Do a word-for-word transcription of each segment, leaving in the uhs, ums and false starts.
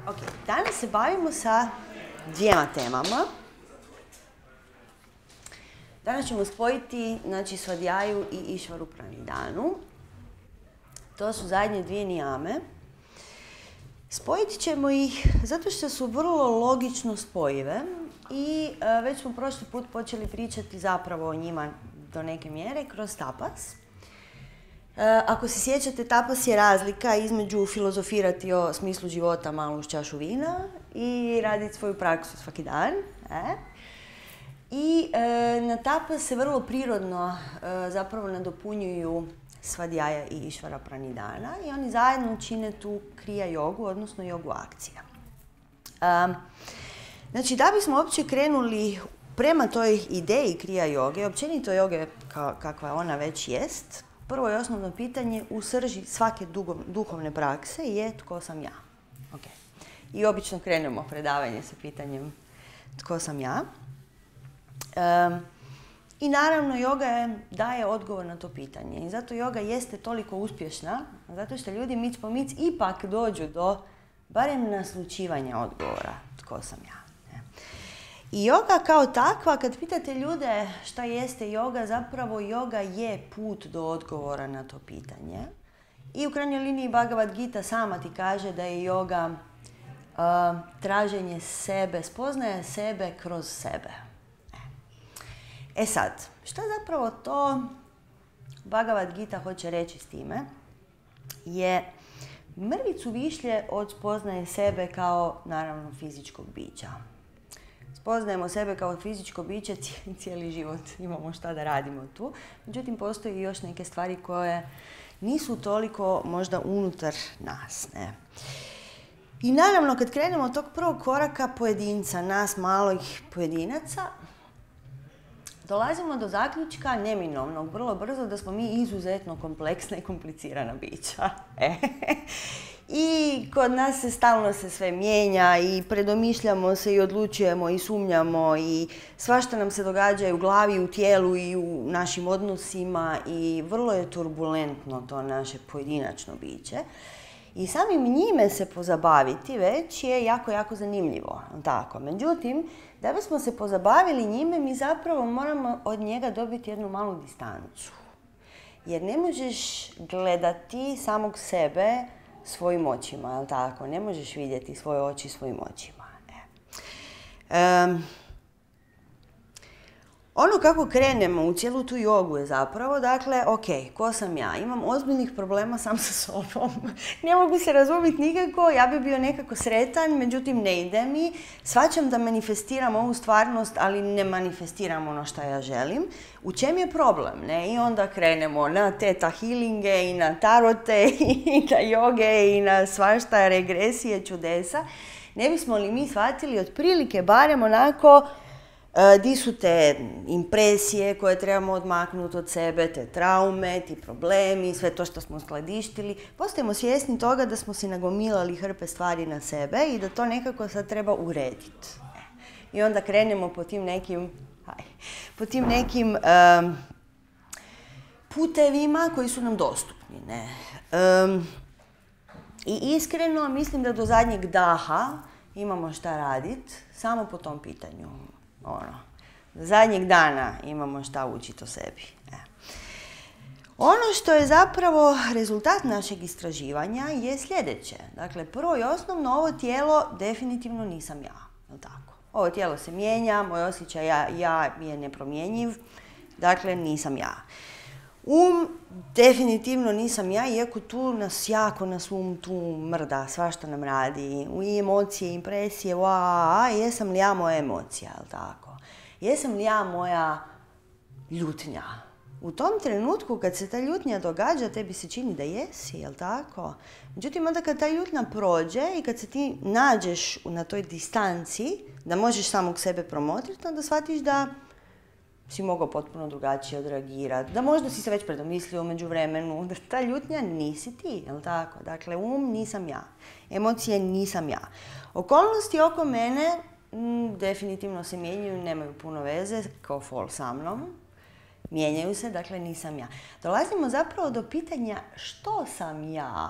Ok, danas se bavimo sa dvijema temama. Danas ćemo spojiti, znači, Svadhyaju i Išvaru Pranidhanu. To su zadnje dvije nijame. Spojit ćemo ih zato što su vrlo logično spojive i uh, već smo prošli put počeli pričati zapravo o njima do neke mjere kroz tapas. Uh, ako se sjećate, tapas je razlika između filozofirati o smislu života malo uz čašu vina i raditi svoju praksu svaki dan. E? I e, na tapas se vrlo prirodno e, zapravo nadopunjuju Svadhyaja i Išvara Pranidhana i oni zajedno čine tu kriya jogu, odnosno jogu akcija. E, znači, da bismo uopće krenuli prema toj ideji kriya joge, općenito joge ka, kakva ona već jest, prvo i osnovno pitanje u srži svake dugo, duhovne prakse je tko sam ja. Okay. I obično krenemo predavanje sa pitanjem tko sam ja. Um, I naravno, joga je, daje odgovor na to pitanje. I zato joga jeste toliko uspješna, zato što ljudi mic po mic ipak dođu do barem naslućivanja odgovora tko sam ja. Ne? I joga kao takva, kad pitate ljude šta jeste joga, zapravo joga je put do odgovora na to pitanje. I u krajnjoj liniji Bhagavad Gita sama ti kaže da je joga uh, traženje sebe, spoznaje sebe kroz sebe. E sad, šta zapravo to Bhagavad Gita hoće reći s time? Je mrvicu višlje od spoznaje sebe kao, naravno, fizičkog bića. Spoznajemo sebe kao fizičko biće, cijeli život imamo šta da radimo tu. Međutim, postoji još neke stvari koje nisu toliko možda unutar nas. Ne? I naravno, kad krenemo od tog prvog koraka pojedinca, nas malih pojedinaca, dolazimo do zaključka neminovnog, vrlo brzo, da smo mi izuzetno kompleksna i komplicirana bića. E. I kod nas se stalno se sve mijenja i predomišljamo se i odlučujemo i sumnjamo i svašta nam se događa i u glavi, i u tijelu i u našim odnosima i vrlo je turbulentno to naše pojedinačno biće. I samim njime se pozabaviti već je jako, jako zanimljivo. Tako. Međutim, da bismo se pozabavili njime, mi zapravo moramo od njega dobiti jednu malu distancu. Jer ne možeš gledati samog sebe svojim očima, jel tako? Ne možeš vidjeti svoje oči svojim očima. E. Um, Ono kako krenemo u cijelu tu jogu je zapravo, dakle, ok, ko sam ja? Imam ozbiljnih problema sam sa sobom. Ne mogu se razumjeti nikako, ja bi bio nekako sretan, međutim ne ide mi. Shvaćam da manifestiram ovu stvarnost, ali ne manifestiram ono što ja želim. U čem je problem? Ne? I onda krenemo na teta healinge i na tarote i na joge i na svašta regresije, čudesa. Ne bismo li mi shvatili otprilike barem onako di su te impresije koje trebamo odmaknuti od sebe, te traume, ti problemi, sve to što smo skladištili. Postajemo svjesni toga da smo si nagomilali hrpe stvari na sebe i da to nekako sad treba urediti. I onda krenemo po tim nekim, aj, po tim nekim um, putevima koji su nam dostupni. Ne? Um, I iskreno mislim da do zadnjeg daha imamo šta raditi samo po tom pitanju. Ono, zadnjeg dana imamo šta učiti o sebi. E. Ono što je zapravo rezultat našeg istraživanja je sljedeće. Dakle, prvo i osnovno, ovo tijelo definitivno nisam ja. Jel' tako? Ovo tijelo se mijenja, moj osjećaj ja, ja je nepromjenjiv, dakle nisam ja. Um, definitivno nisam ja, iako tu nas jako nas um tu mrda, svašta nam radi, i emocije, impresije, a, jesam li ja moja emocija, jel' tako? Jesam li ja moja ljutnja? U tom trenutku kad se ta ljutnja događa, tebi se čini da jesi, jel' tako? Međutim, onda kad ta ljutnja prođe i kad se ti nađeš na toj distanci, da možeš samog sebe promotriti, onda shvatiš da si mogao potpuno drugačije odreagirati, da možda si se već predomislio u međuvremenu, da ta ljutnja nisi ti, jel' tako? Dakle, um nisam ja, emocije nisam ja. Okolnosti oko mene m, definitivno se mijenjaju, nemaju puno veze, kao fol sa mnom. Mijenjaju se, dakle nisam ja. Dolazimo zapravo do pitanja što sam ja,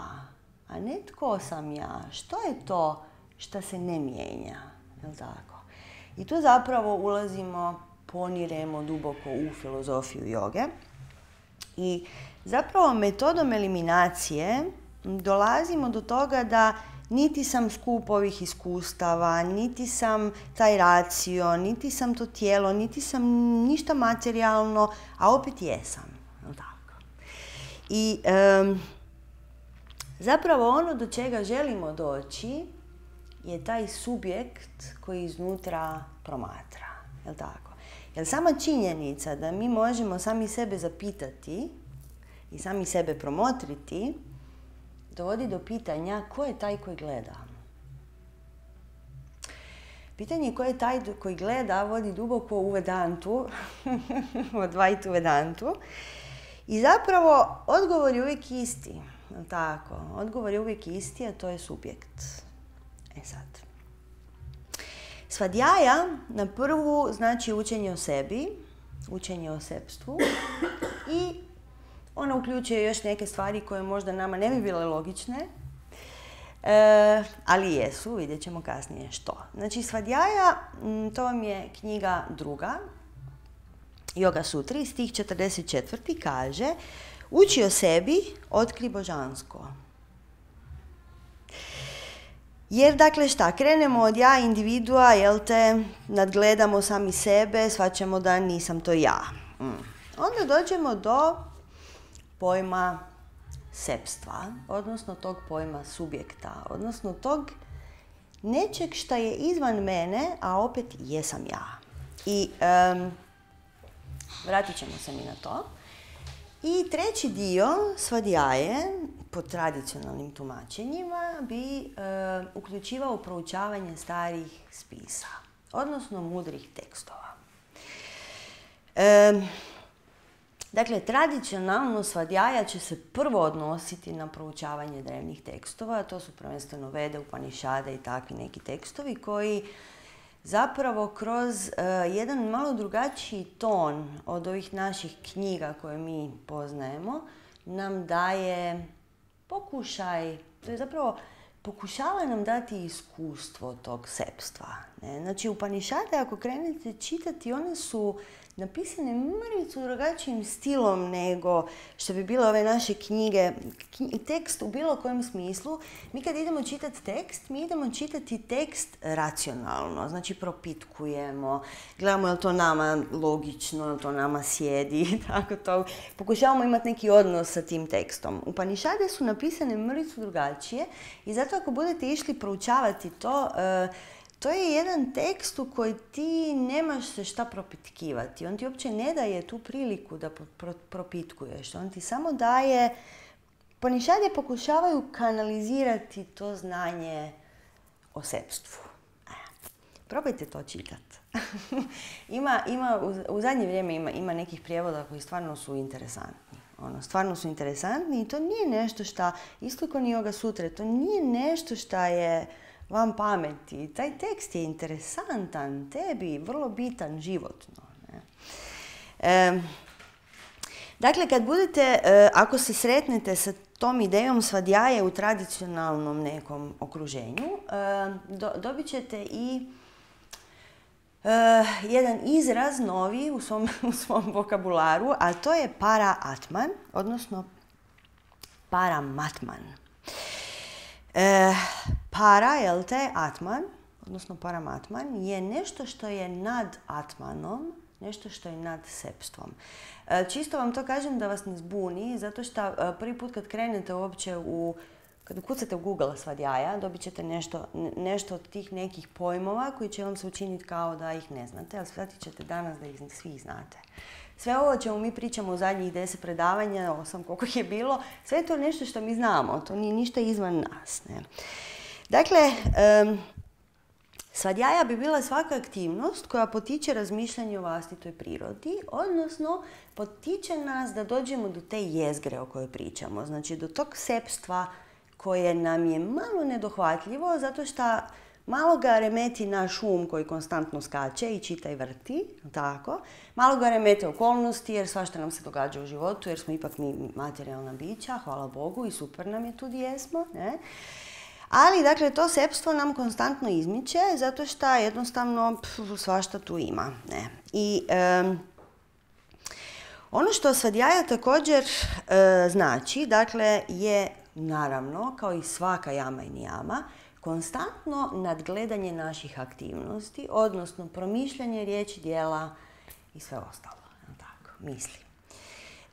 a ne tko sam ja. Što je to šta se ne mijenja, jel tako? I tu zapravo ulazimo, poniremo duboko u filozofiju joge i zapravo metodom eliminacije dolazimo do toga da niti sam skup ovih iskustava, niti sam taj racio, niti sam to tijelo, niti sam ništa materijalno, a opet jesam. Tako. I um, zapravo ono do čega želimo doći je taj subjekt koji iznutra promatra. Jel tako? Jer sama činjenica da mi možemo sami sebe zapitati i sami sebe promotriti dovodi do pitanja ko je taj koji gleda. Pitanje ko je taj koji gleda vodi duboko u Vedantu, u Advaitu Vedantu. I zapravo odgovor je uvijek isti. Tako, odgovor je uvijek isti, a to je subjekt. E sad. Svadjaja na prvu znači učenje o sebi, učenje o sebstvu i ona uključuje još neke stvari koje možda nama ne bi bile logične, e, ali jesu, vidjet ćemo kasnije što. Znači, Svadjaja, to vam je knjiga druga, Yoga Sutri, stih četrdeset četvrti kaže: uči o sebi, otkri božansko. Jer, dakle, šta, krenemo od ja, individua, jel te, nadgledamo sami sebe, shvaćamo da nisam to ja. Mm. Onda dođemo do pojma sebstva, odnosno tog pojma subjekta, odnosno tog nečeg šta je izvan mene, a opet jesam ja. I um, vratit ćemo se mi na to. I treći dio svadjaje, po tradicionalnim tumačenjima, bi uh, uključivao proučavanje starih spisa, odnosno mudrih tekstova. Um, Dakle, tradicionalno svadjaja će se prvo odnositi na proučavanje drevnih tekstova, to su prvenstveno Vede, Upanišade i takvi neki tekstovi koji zapravo kroz uh, jedan malo drugačiji ton od ovih naših knjiga koje mi poznajemo nam daje pokušaj, to je zapravo pokušava nam dati iskustvo tog sebstva. Ne? Znači, Upanišade, ako krenete čitati, one su napisane mrvicu drugačijim stilom nego što bi bile ove naše knjige. Tekst u bilo kojem smislu. Mi kad idemo čitati tekst, mi idemo čitati tekst racionalno. Znači, propitkujemo, gledamo je li to nama logično, je li to nama sjedi, tako to. Pokušavamo imati neki odnos sa tim tekstom. Upanišade su napisane mrvicu drugačije i zato ako budete išli proučavati to, uh, to je jedan tekst u koji ti nemaš se šta propitkivati. On ti uopće ne daje tu priliku da pro- propitkuješ. On ti samo daje... Upanišade pokušavaju kanalizirati to znanje o sebstvu. Probajte to čitati. ima, ima, u, u zadnje vrijeme ima, ima nekih prijevoda koji stvarno su interesantni. Ono, stvarno su interesantni i to nije nešto šta, isto kao ni Yoga Sutre, to nije nešto šta je vam pameti. Taj tekst je interesantan, tebi, vrlo bitan životno. Ne? E, dakle, kad budete, e, ako se sretnete sa tom idejom svadjaje u tradicionalnom nekom okruženju, e, do, dobit ćete i e, jedan izraz novi u svom, u svom vokabularu, a to je para-atman, odnosno paramatman. E, para, jel te, atman, odnosno paramatman, je nešto što je nad atmanom, nešto što je nad sebstvom. E, čisto vam to kažem da vas ne zbuni, zato što prvi put kad krenete uopće u, kad kucate u Google svadjaja, dobit ćete nešto, nešto od tih nekih pojmova koji će vam se učiniti kao da ih ne znate, ali shvatit ćete danas da ih svi znate. Sve ovo o čemu mi pričamo u zadnjih deset predavanja, osam koliko ih je bilo, sve je to nešto što mi znamo, to nije ništa izvan nas. Ne? Dakle, um, svadjaja bi bila svaka aktivnost koja potiče razmišljanje o vlastitoj prirodi, odnosno potiče nas da dođemo do te jezgre o kojoj pričamo, znači do tog sebstva koje nam je malo nedohvatljivo, zato što malo ga remeti naš um koji konstantno skače i čita i vrti, tako. Malo ga remete okolnosti jer svašta nam se događa u životu jer smo ipak mi materijalna bića, hvala Bogu i super nam je tu gdje jesmo. Ne? Ali, dakle, to sepstvo nam konstantno izmiče, zato što jednostavno pf, svašta tu ima. Ne. I um, ono što svadjaja također e, znači, dakle, je naravno, kao i svaka jama i nijama, konstantno nadgledanje naših aktivnosti, odnosno promišljanje riječi, djela i sve ostalo, tako, misli.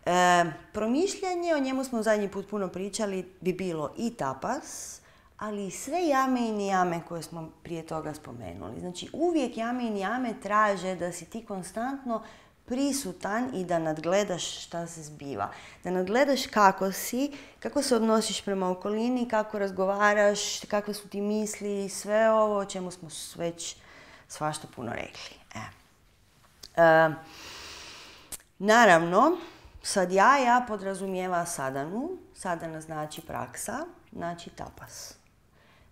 E, promišljanje, o njemu smo zadnji put puno pričali, bi bilo i tapas, ali i sve jame i nijame koje smo prije toga spomenuli. Znači, uvijek jame i nijame traže da si ti konstantno prisutan i da nadgledaš šta se zbiva. Da nadgledaš kako si, kako se odnosiš prema okolini, kako razgovaraš, kakve su ti misli, sve ovo o čemu smo već svašta puno rekli. E. E, naravno, svadjaja podrazumijeva sadanu. Sadana znači praksa, znači tapas.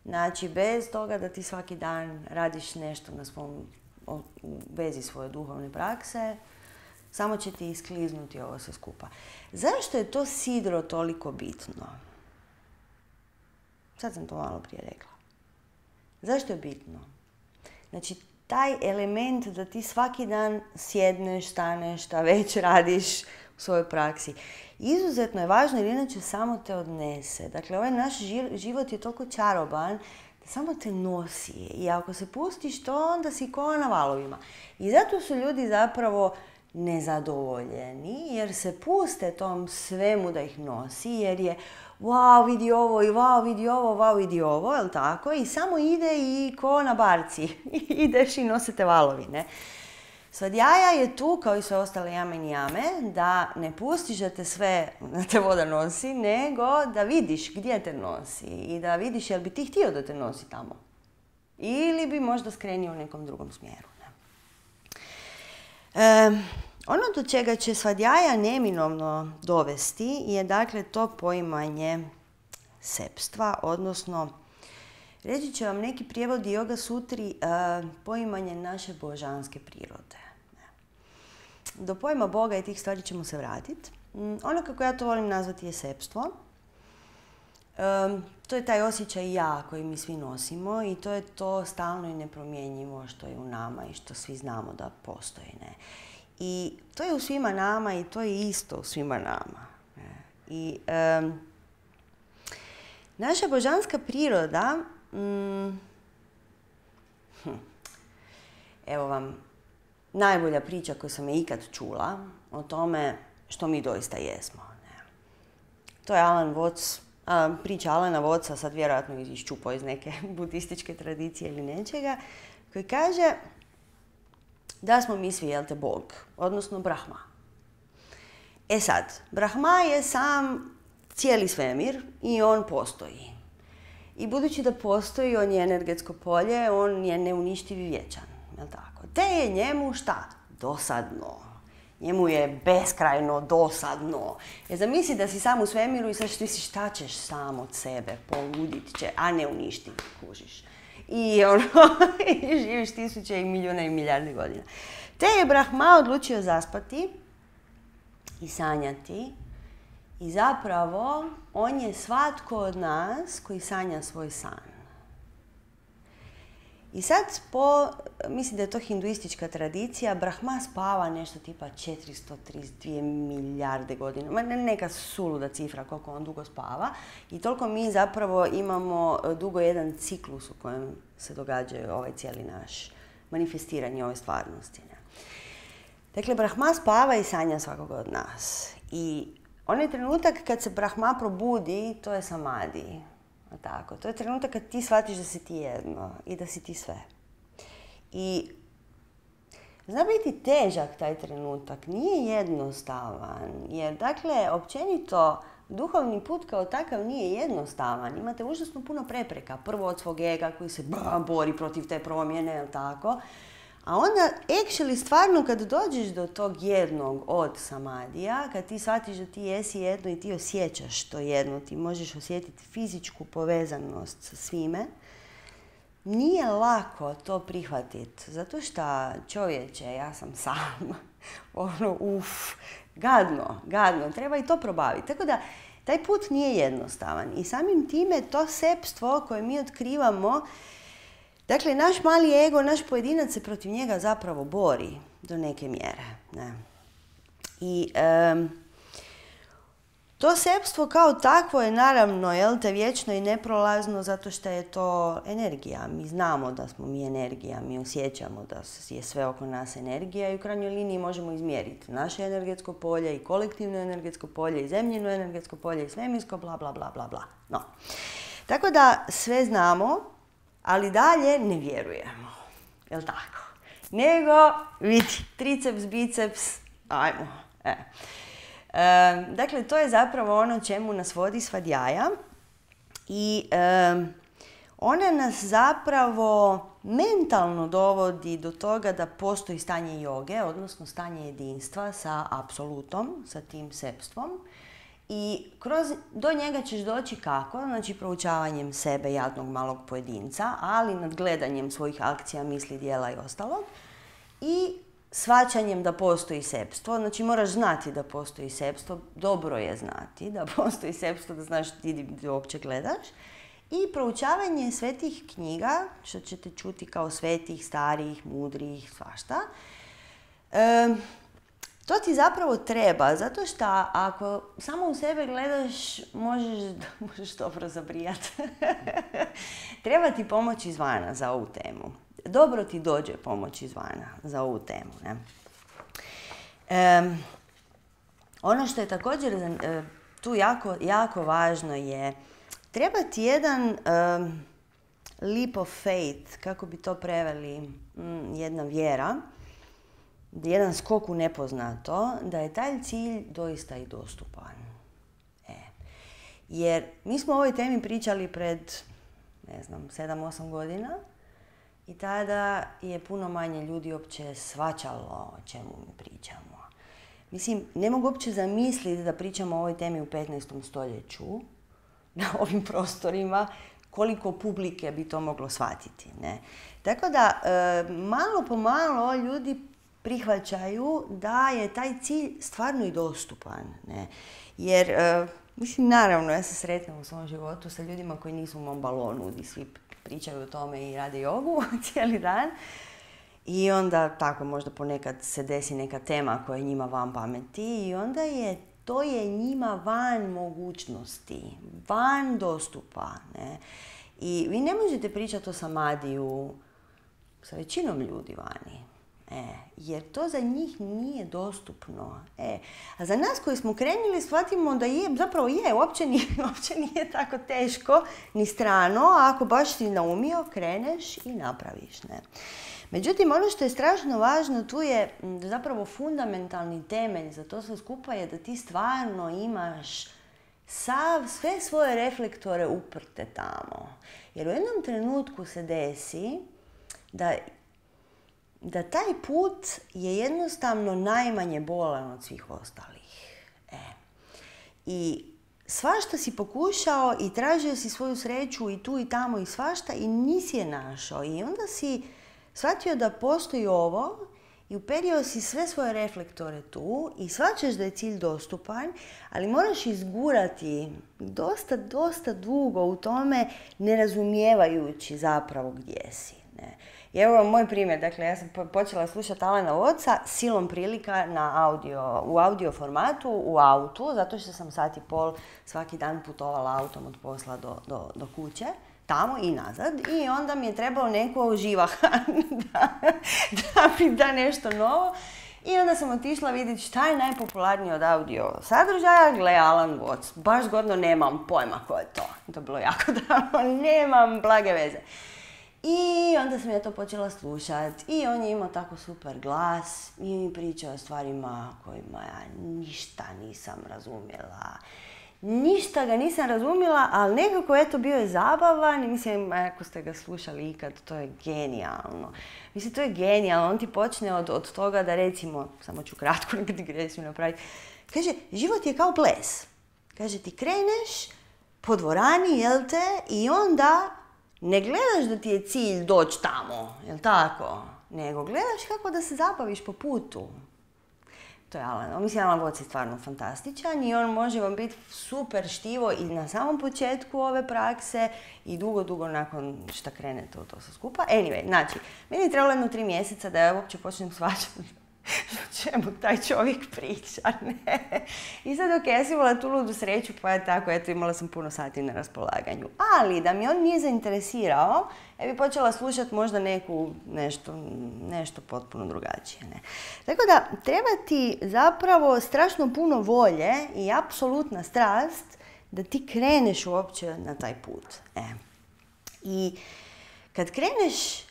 Znači, bez toga da ti svaki dan radiš nešto na svom, u vezi svoje duhovne prakse, samo će ti iskliznuti ovo sve skupa. Zašto je to sidro toliko bitno? Sad sam to malo prije rekla. Zašto je bitno? Znači, taj element da ti svaki dan sjedneš, staneš, šta već radiš u svojoj praksi, izuzetno je važno jer inače samo te odnese. Dakle, ovaj naš život je toliko čaroban da samo te nosi. I ako se pustiš to, onda si ko na valovima. I zato su ljudi zapravo nezadovoljeni, jer se puste tom svemu da ih nosi, jer je wow, vidi ovo i wow, vidi ovo, wow, vidi ovo, jel tako? I samo ide i ko na barci. Ideš i nosite valovi, ne? Svadjaja je tu, kao i sve ostale jame i nijame, da ne pustiš da te sve, da te voda nosi, nego da vidiš gdje te nosi i da vidiš jel bi ti htio da te nosi tamo. Ili bi možda skrenio u nekom drugom smjeru. Ne? E, ono do čega će svadjaja neminovno dovesti je dakle to poimanje sepstva, odnosno reći će vam neki prijevodi Yoga Sutri uh, poimanje naše božanske prirode. Do pojma Boga i tih stvari ćemo se vratiti. Um, ono kako ja to volim nazvati je sepstvo. Um, to je taj osjećaj ja koji mi svi nosimo i to je to stalno i nepromjenjivo što je u nama i što svi znamo da postoji. Ne? I to je u svima nama i to je isto u svima nama. Ne? I um, naša božanska priroda, Mm. Hm. evo vam najbolja priča koju sam je ikad čula o tome što mi doista jesmo. Ne. To je Alan Watts, a, priča Alana Wattsa, sad vjerojatno iščupao iz neke budističke tradicije ili nečega, koji kaže da smo mi svi, jel te, Bog, odnosno Brahma. E sad, Brahma je sam cijeli svemir i on postoji. I budući da postoji, on je energetsko polje, on je neuništiv i vječan. Jel tako? Te je njemu šta? Dosadno. Njemu je beskrajno dosadno. Jer zamisli da si sam u svemiru i sad ti si šta ćeš sam od sebe, poludit će, a ne uništiv, kužiš. I ono, i živiš tisuće i milijuna i milijarde godina. Te je Brahma odlučio zaspati i sanjati. I zapravo, on je svatko od nas koji sanja svoj san. I sad, po, mislim da je to hinduistička tradicija, Brahma spava nešto tipa četiristo trideset dvije milijarde godina. Neka suluda cifra koliko on dugo spava. I toliko mi zapravo imamo dugo jedan ciklus u kojem se događaju ovaj cijeli naš manifestiranje ove stvarnosti. Ne? Dakle, Brahma spava i sanja svakoga od nas. I onaj trenutak kad se Brahma probudi, to je samadi. Tako. To je trenutak kad ti shvatiš da si ti jedno i da si ti sve. I zna biti težak taj trenutak, nije jednostavan. Jer, dakle, općenito, duhovni put kao takav nije jednostavan. Imate užasno puno prepreka. Prvo od svog ega koji se bori protiv te promjene, jel tako? A onda, actually, stvarno, kad dođeš do tog jednog od samadija, kad ti shvatiš da ti jesi jedno i ti osjećaš to jedno, ti možeš osjetiti fizičku povezanost sa svime, nije lako to prihvatiti. Zato što, čovječe, ja sam sam, ono, uf, gadno, gadno, treba i to probaviti. Tako da, taj put nije jednostavan i samim time to sepstvo koje mi otkrivamo, dakle, naš mali ego, naš pojedinac se protiv njega zapravo bori do neke mjere. Ne? I um, to sepstvo kao takvo je naravno, jel te, vječno i neprolazno zato što je to energija. Mi znamo da smo mi energija, mi osjećamo da je sve oko nas energija i u krajnjoj liniji možemo izmjeriti naše energetsko polje i kolektivno energetsko polje i zemljino energetsko polje i svemirsko, bla, bla, bla, bla, bla. No. Tako da sve znamo, ali dalje ne vjerujemo. Jel tako? Nego, vidi, triceps, biceps, ajmo. E. E, dakle, to je zapravo ono čemu nas vodi svadjaja i e, ona nas zapravo mentalno dovodi do toga da postoji stanje joge, odnosno stanje jedinstva sa apsolutom, sa tim sepstvom. I kroz, do njega ćeš doći kako? Znači proučavanjem sebe, jadnog malog pojedinca, ali nadgledanjem svojih akcija, misli, djela i ostalog. I shvaćanjem da postoji sepstvo, znači moraš znati da postoji sepstvo, dobro je znati da postoji sepstvo, da znaš ti uopće gledaš. I proučavanje svetih knjiga, što ćete čuti kao svetih, starih, mudrih, svašta. E, to ti zapravo treba, zato što ako samo u sebe gledaš, možeš, možeš dobro zabrijati. Treba ti pomoć izvana za ovu temu. Dobro ti dođe pomoć izvana za ovu temu. Ne? E, ono što je također e, tu jako, jako važno je, treba ti jedan um, leap of faith, kako bi to preveli, mm, jedna vjera, jedan skok u nepoznato, da je taj cilj doista i dostupan. E. Jer mi smo o ovoj temi pričali pred, ne znam, sedam osam godina i tada je puno manje ljudi uopće shvaćalo o čemu mi pričamo. Mislim, ne mogu uopće zamisliti da pričamo o ovoj temi u petnaestom stoljeću, na ovim prostorima, koliko publike bi to moglo shvatiti. Ne? Tako da, e, malo po malo ljudi prihvaćaju da je taj cilj stvarno i dostupan. Ne? Jer, e, mislim, naravno, ja se sretnem u svom životu sa ljudima koji nisu u mom balonu, gdje svi pričaju o tome i rade jogu cijeli dan. I onda tako možda ponekad se desi neka tema koja je njima van pameti i onda je to je njima van mogućnosti, van dostupa. Ne? I vi ne možete pričati o samadiju sa većinom ljudi vani. E, jer to za njih nije dostupno. E, a za nas koji smo krenuli shvatimo da je, zapravo je, uopće nije, uopće nije tako teško ni strano, a ako baš si naumio, kreneš i napraviš. Ne? Međutim, ono što je strašno važno tu je zapravo fundamentalni temelj za to sve skupa je da ti stvarno imaš sav, sve svoje reflektore uprte tamo. Jer u jednom trenutku se desi da, da taj put je jednostavno najmanje bolan od svih ostalih. E. I svašta si pokušao i tražio si svoju sreću i tu i tamo i svašta i nisi je našao. I onda si shvatio da postoji ovo i uperio si sve svoje reflektore tu i shvaćaš da je cilj dostupan, ali moraš izgurati dosta, dosta dugo u tome, ne razumijevajući zapravo gdje si. Ne? I evo moj primjer, dakle ja sam počela slušati Alena Watsa silom prilika na audio, u audio formatu, u autu, zato što sam sat i pol svaki dan putovala autom od posla do, do, do kuće. Tamo i nazad i onda mi je trebalo neko živahan da, da mi da nešto novo i onda sam otišla vidjeti šta je najpopularnije od audio sadržaja, gle Alan Watts, baš zgodno, nemam pojma ko je to, to je bilo jako davno, nemam blage veze. I onda sam ja to počela slušati i on je imao tako super glas i mi pričao o stvarima kojima ja ništa nisam razumjela. Ništa ga nisam razumjela, ali nekako eto bio je zabavan i mislim, ako ste ga slušali ikad, to je genijalno. Mislim, to je genijalno. On ti počne od, od toga da recimo, samo ću kratko nekad digresiju napraviti, kaže, život je kao ples. Kaže, ti kreneš po dvorani, jel te, i onda ne gledaš da ti je cilj doći tamo, jel tako? Nego gledaš kako da se zabaviš po putu. to je Alan. Mislim, Alan Watts je stvarno fantastičan i on može vam biti super štivo i na samom početku ove prakse i dugo, dugo nakon što krenete u to sve skupa. Anyway, znači, meni je trebalo jedno tri mjeseca da ja uopće počnem shvaćati o čemu taj čovjek priča, ne? I sad, ok, ja sam imala tu ludu sreću, pa je tako, eto, imala sam puno sati na raspolaganju. Ali, da mi on nije zainteresirao, ja bi počela slušati možda neku, nešto, nešto potpuno drugačije, ne? Tako da, treba ti zapravo strašno puno volje i apsolutna strast da ti kreneš uopće na taj put. E. I kad kreneš,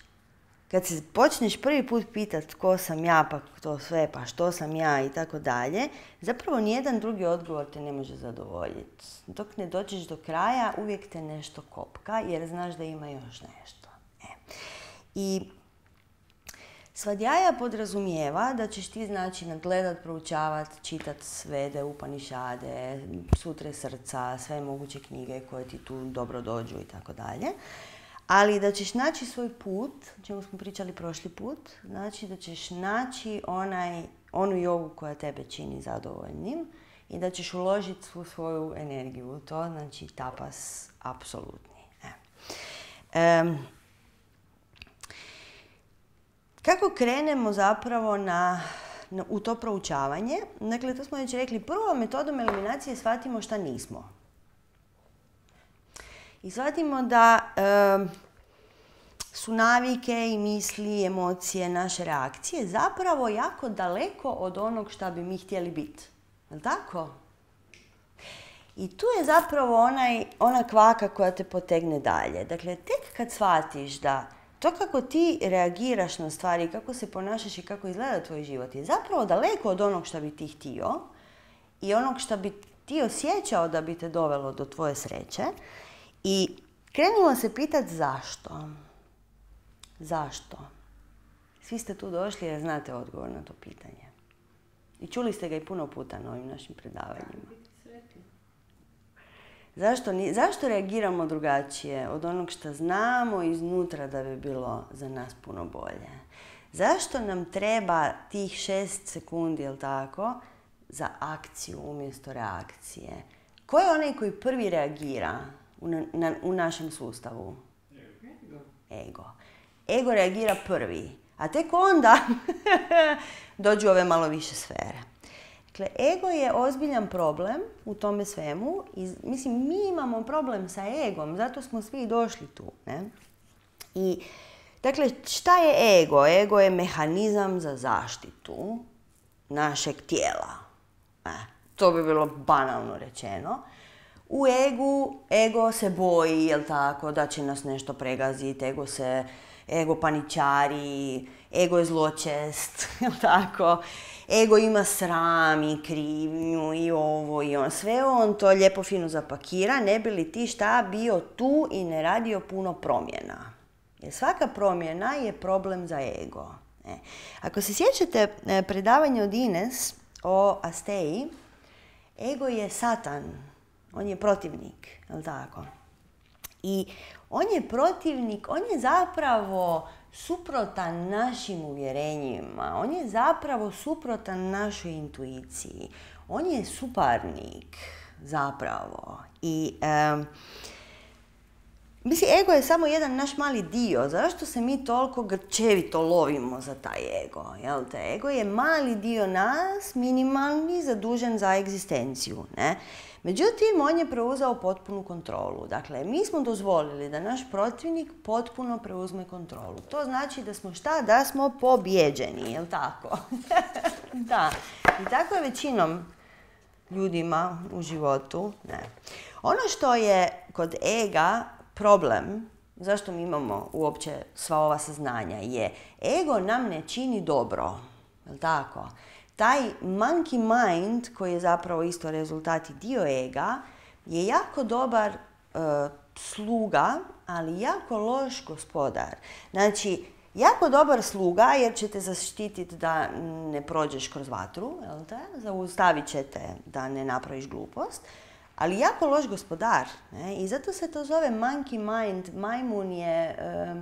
kad se počneš prvi put pitat ko sam ja, pa to sve, pa što sam ja i tako dalje, zapravo nijedan drugi odgovor te ne može zadovoljiti. Dok ne dođeš do kraja, uvijek te nešto kopka, jer znaš da ima još nešto. E. I svadjaja podrazumijeva da ćeš ti, znači, nadgledat, proučavat, čitat Vede, Upanišade, Sutre srca, sve moguće knjige koje ti tu dobro dođu i tako dalje. Ali da ćeš naći svoj put, o čemu smo pričali prošli put, znači da ćeš naći onaj, onu jogu koja tebe čini zadovoljnim i da ćeš uložiti svu svoju energiju u to, znači tapas apsolutni. E. Um, kako krenemo zapravo na, na, u to proučavanje? Dakle, to smo već rekli, prvo metodom eliminacije shvatimo šta nismo. I shvatimo da e, su navike i misli, emocije, naše reakcije zapravo jako daleko od onog šta bi mi htjeli biti. Je li tako? I tu je zapravo onaj, ona kvaka koja te potegne dalje. Dakle, tek kad shvatiš da to kako ti reagiraš na stvari, kako se ponašaš i kako izgleda tvoj život je zapravo daleko od onog šta bi ti htio i onog šta bi ti osjećao da bi te dovelo do tvoje sreće. I krenimo se pitati zašto. Zašto? Svi ste tu došli jer znate odgovor na to pitanje. I čuli ste ga i puno puta na ovim našim predavanjima. Zašto, zašto reagiramo drugačije od onog što znamo iznutra da bi bilo za nas puno bolje? Zašto nam treba tih šest sekundi, jel tako, za akciju umjesto reakcije? Ko je onaj koji prvi reagira u, na, u našem sustavu? Ego. Ego. Ego reagira prvi, a tek onda dođu ove malo više sfere. Dakle, ego je ozbiljan problem u tome svemu. I, mislim, mi imamo problem sa egom, zato smo svi došli tu. Ne? I, dakle, šta je ego? Ego je mehanizam za zaštitu našeg tijela. E, to bi bilo banalno rečeno. U egu, ego se boji, jel tako, da će nas nešto pregaziti, ego se, ego paničari, ego je zločest, jel tako. Ego ima sram i krivnju i ovo i on. Sve on to lijepo fino zapakira, ne bi li ti šta bio tu i ne radio puno promjena. Jer svaka promjena je problem za ego. E. Ako se sjećate predavanja od Ines o Asteji, ego je Satan. On je protivnik, je li tako? I on je protivnik, on je zapravo suprotan našim uvjerenjima, on je zapravo suprotan našoj intuiciji, on je suparnik zapravo. I um, mislim, ego je samo jedan naš mali dio. Zašto se mi toliko grčevito lovimo za taj ego? Jel te? Ego je mali dio nas, minimalni, zadužen za egzistenciju, ne? Međutim, on je preuzeo potpunu kontrolu. Dakle, mi smo dozvolili da naš protivnik potpuno preuzme kontrolu. To znači da smo šta? Da smo pobjeđeni, jel tako? Da. I tako je većinom ljudima u životu. Ne. Ono što je kod ega problem, zašto mi imamo uopće sva ova saznanja, je ego nam ne čini dobro, jel tako? Taj monkey mind, koji je zapravo isto rezultat i dio ega, je jako dobar uh, sluga, ali jako loš gospodar. Znači, jako dobar sluga jer će te zaštititi da ne prođeš kroz vatru, jel te? Zaustavit će te da ne napraviš glupost, ali jako loš gospodar. Ne? I zato se to zove monkey mind. Majmun je uh,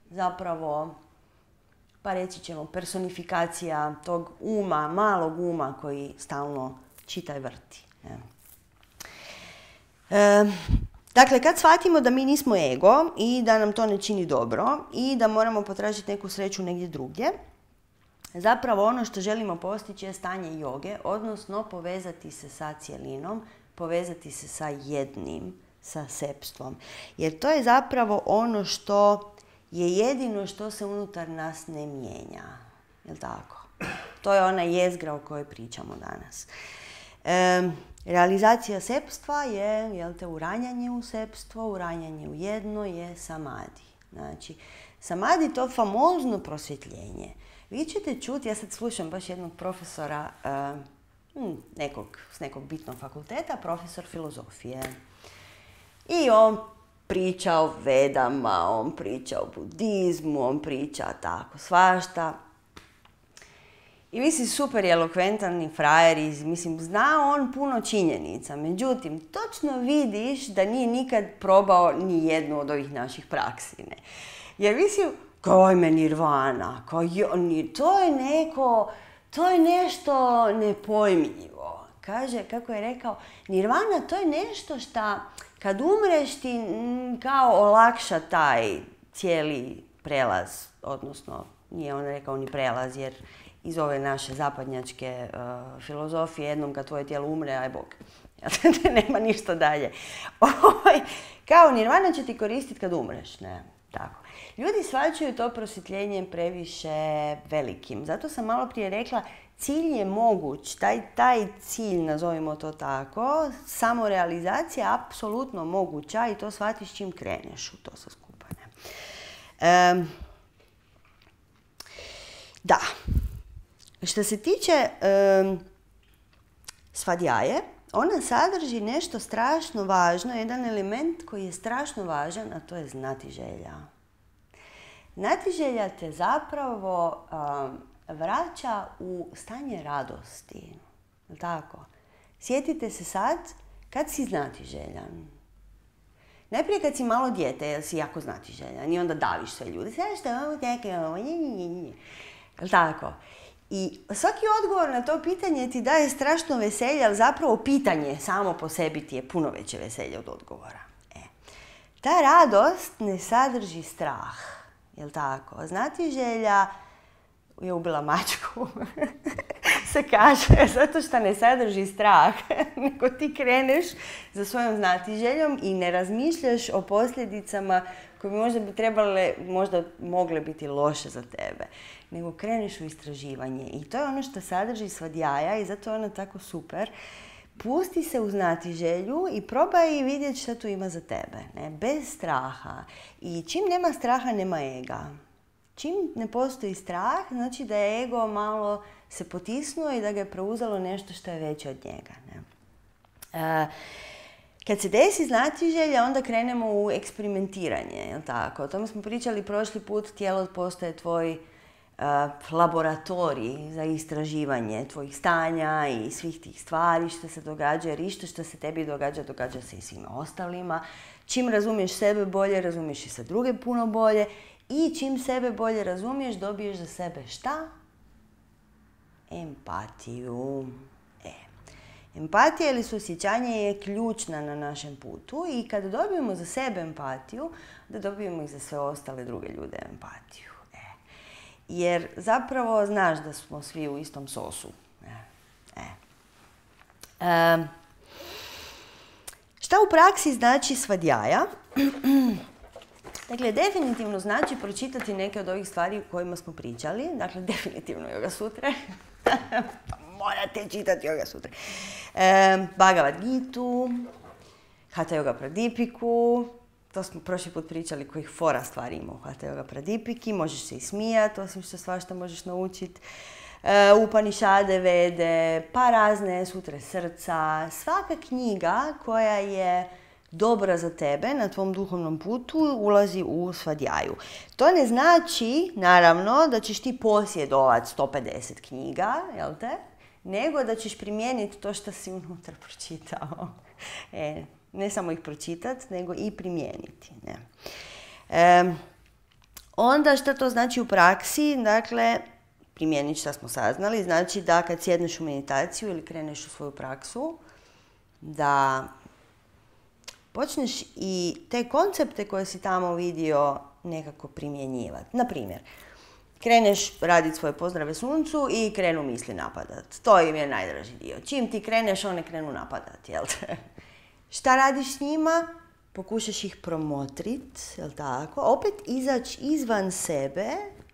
zapravo pa reći ćemo personifikacija tog uma, malog uma koji stalno čita i vrti. Ne? E, dakle, kad shvatimo da mi nismo ego i da nam to ne čini dobro i da moramo potražiti neku sreću negdje drugdje, zapravo ono što želimo postići je stanje joge, odnosno povezati se sa cjelinom, povezati se sa jednim, sa sepstvom. Jer to je zapravo ono što je jedino što se unutar nas ne mijenja. Jel' tako? To je ona jezgra o kojoj pričamo danas. E, realizacija sepstva je, jel te, uranjanje u sepstvo, uranjanje u jedno je samadi. Znači, samadi to famozno prosvjetljenje. Vi ćete čuti, ja sad slušam baš jednog profesora uh, nekog, s nekog bitnog fakulteta, profesor filozofije. I on priča o vedama, on priča o budizmu, on priča tako svašta. I mislim, super je elokventan i frajer i mislim, zna on puno činjenica. Međutim, točno vidiš da nije nikad probao ni jednu od ovih naših praksi. Ne? Jer mislim, kao ime nirvana, kao jo, to je neko, to je nešto nepojmljivo. Kaže, kako je rekao, nirvana to je nešto što kad umreš ti m, kao olakša taj cijeli prelaz, odnosno nije on rekao ni prelaz, jer iz ove naše zapadnjačke uh, filozofije jednom kad tvoje tijelo umre, aj Bog. Nema ništa dalje. Kao nirvana će ti koristiti kad umreš, ne, tako. Ljudi shvaćaju to prosvjetljenje previše velikim. Zato sam malo prije rekla, cilj je moguć, taj, taj cilj, nazovimo to tako, samorealizacija je apsolutno moguća i to shvatiš čim kreneš u to sve skupa. Um, da. Što se tiče um, svadjaje, ona sadrži nešto strašno važno, jedan element koji je strašno važan, a to je znatiželja. Znatiželja te zapravo um, vraća u stanje radosti. Tako. Sjetite se sad kad si znatiželjan. Najprije kad si malo dijete, jer si jako znatiželjan i onda daviš sve ljude. Sve što ovo teke, ovo nje, nje, nje. Tako. I svaki odgovor na to pitanje ti daje strašno veselje, ali zapravo pitanje samo po sebi ti je puno veće veselje od odgovora. E. Ta radost ne sadrži strah. Jel' tako? Znatiželja je ubila mačku, se kaže, zato što ne sadrži strah, nego ti kreneš za svojom znatiželjom i ne razmišljaš o posljedicama koje možda bi trebale, možda mogle biti loše za tebe, nego kreneš u istraživanje. I to je ono što sadrži svadjaja i zato je ona tako super. Pusti se u znatiželju i probaj vidjeti što tu ima za tebe, ne? Bez straha. I čim nema straha, nema ega. Čim ne postoji strah, znači da je ego malo se potisnuo i da ga je preuzelo nešto što je veće od njega. Ne? E, kad se desi znatiželja, onda krenemo u eksperimentiranje, jel' tako? O tome smo pričali prošli put, tijelo postaje tvoj uh, laboratorij za istraživanje tvojih stanja i svih tih stvari što se događa, jer isto što se tebi događa, događa se i svima ostalima. Čim razumiješ sebe bolje, razumiješ i sa druge puno bolje. I čim sebe bolje razumiješ, dobiješ za sebe šta? Empatiju. E. Empatija ili suosjećanje je ključna na našem putu i kada dobijemo za sebe empatiju, da dobijemo i za sve ostale druge ljude empatiju. E. Jer zapravo znaš da smo svi u istom sosu. E. E. E. Šta u praksi znači svadjaja? Dakle, definitivno znači pročitati neke od ovih stvari o kojima smo pričali. Dakle, definitivno Yoga Sutre. Morate čitati Yoga Sutre. E, Bhagavad Gitu, Hatha Yoga Pradipiku. To smo prošli put pričali kojih fora stvari ima u Hatha Yoga Pradipiki. Možeš se i smijati, osim što svašta možeš naučiti. E, Upanišade, Vede, pa razne sutre srca. Svaka knjiga koja je dobra za tebe na tvom duhovnom putu ulazi u svadjaju. To ne znači, naravno, da ćeš ti posjedovati sto pedeset knjiga, jel te? Nego da ćeš primijeniti to što si unutra pročitao. E, ne samo ih pročitati, nego i primijeniti. Ne? E, Onda što to znači u praksi? Dakle, primijeniti što smo saznali, znači da kad sjedneš u meditaciju ili kreneš u svoju praksu, da počneš i te koncepte koje si tamo vidio nekako primjenjivati. Na primjer, kreneš raditi svoje pozdrave suncu i krenu misli napadat. To im je najdraži dio. Čim ti kreneš, one krenu napadat, jel te? Šta radiš s njima? Pokušaš ih promotrit, jel tako? Opet izaći izvan sebe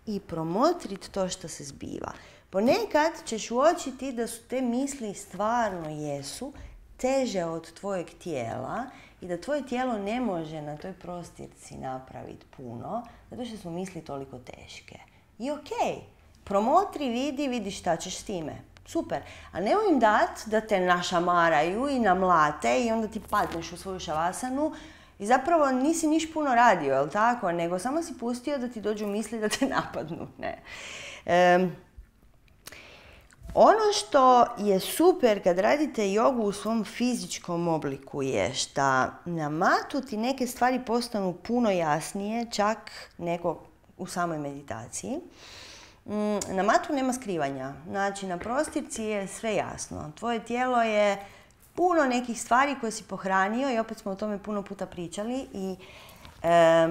i promotrit to što se zbiva. Ponekad ćeš uočiti da su te misli stvarno jesu teže od tvojeg tijela i da tvoje tijelo ne može na toj prostirci napraviti puno, zato što su misli toliko teške. I okej, promotri, vidi, vidi šta ćeš s time. Super. A nemoj im dat da te našamaraju i namlate i onda ti padneš u svoju šavasanu i zapravo nisi niš puno radio, jel tako? Nego samo si pustio da ti dođu misli da te napadnu. Ne. Um, Ono što je super kad radite jogu u svom fizičkom obliku je što na matu ti neke stvari postanu puno jasnije, čak neko u samoj meditaciji. Na matu nema skrivanja, znači na prostirci je sve jasno. Tvoje tijelo je puno nekih stvari koje si pohranio i opet smo o tome puno puta pričali i e,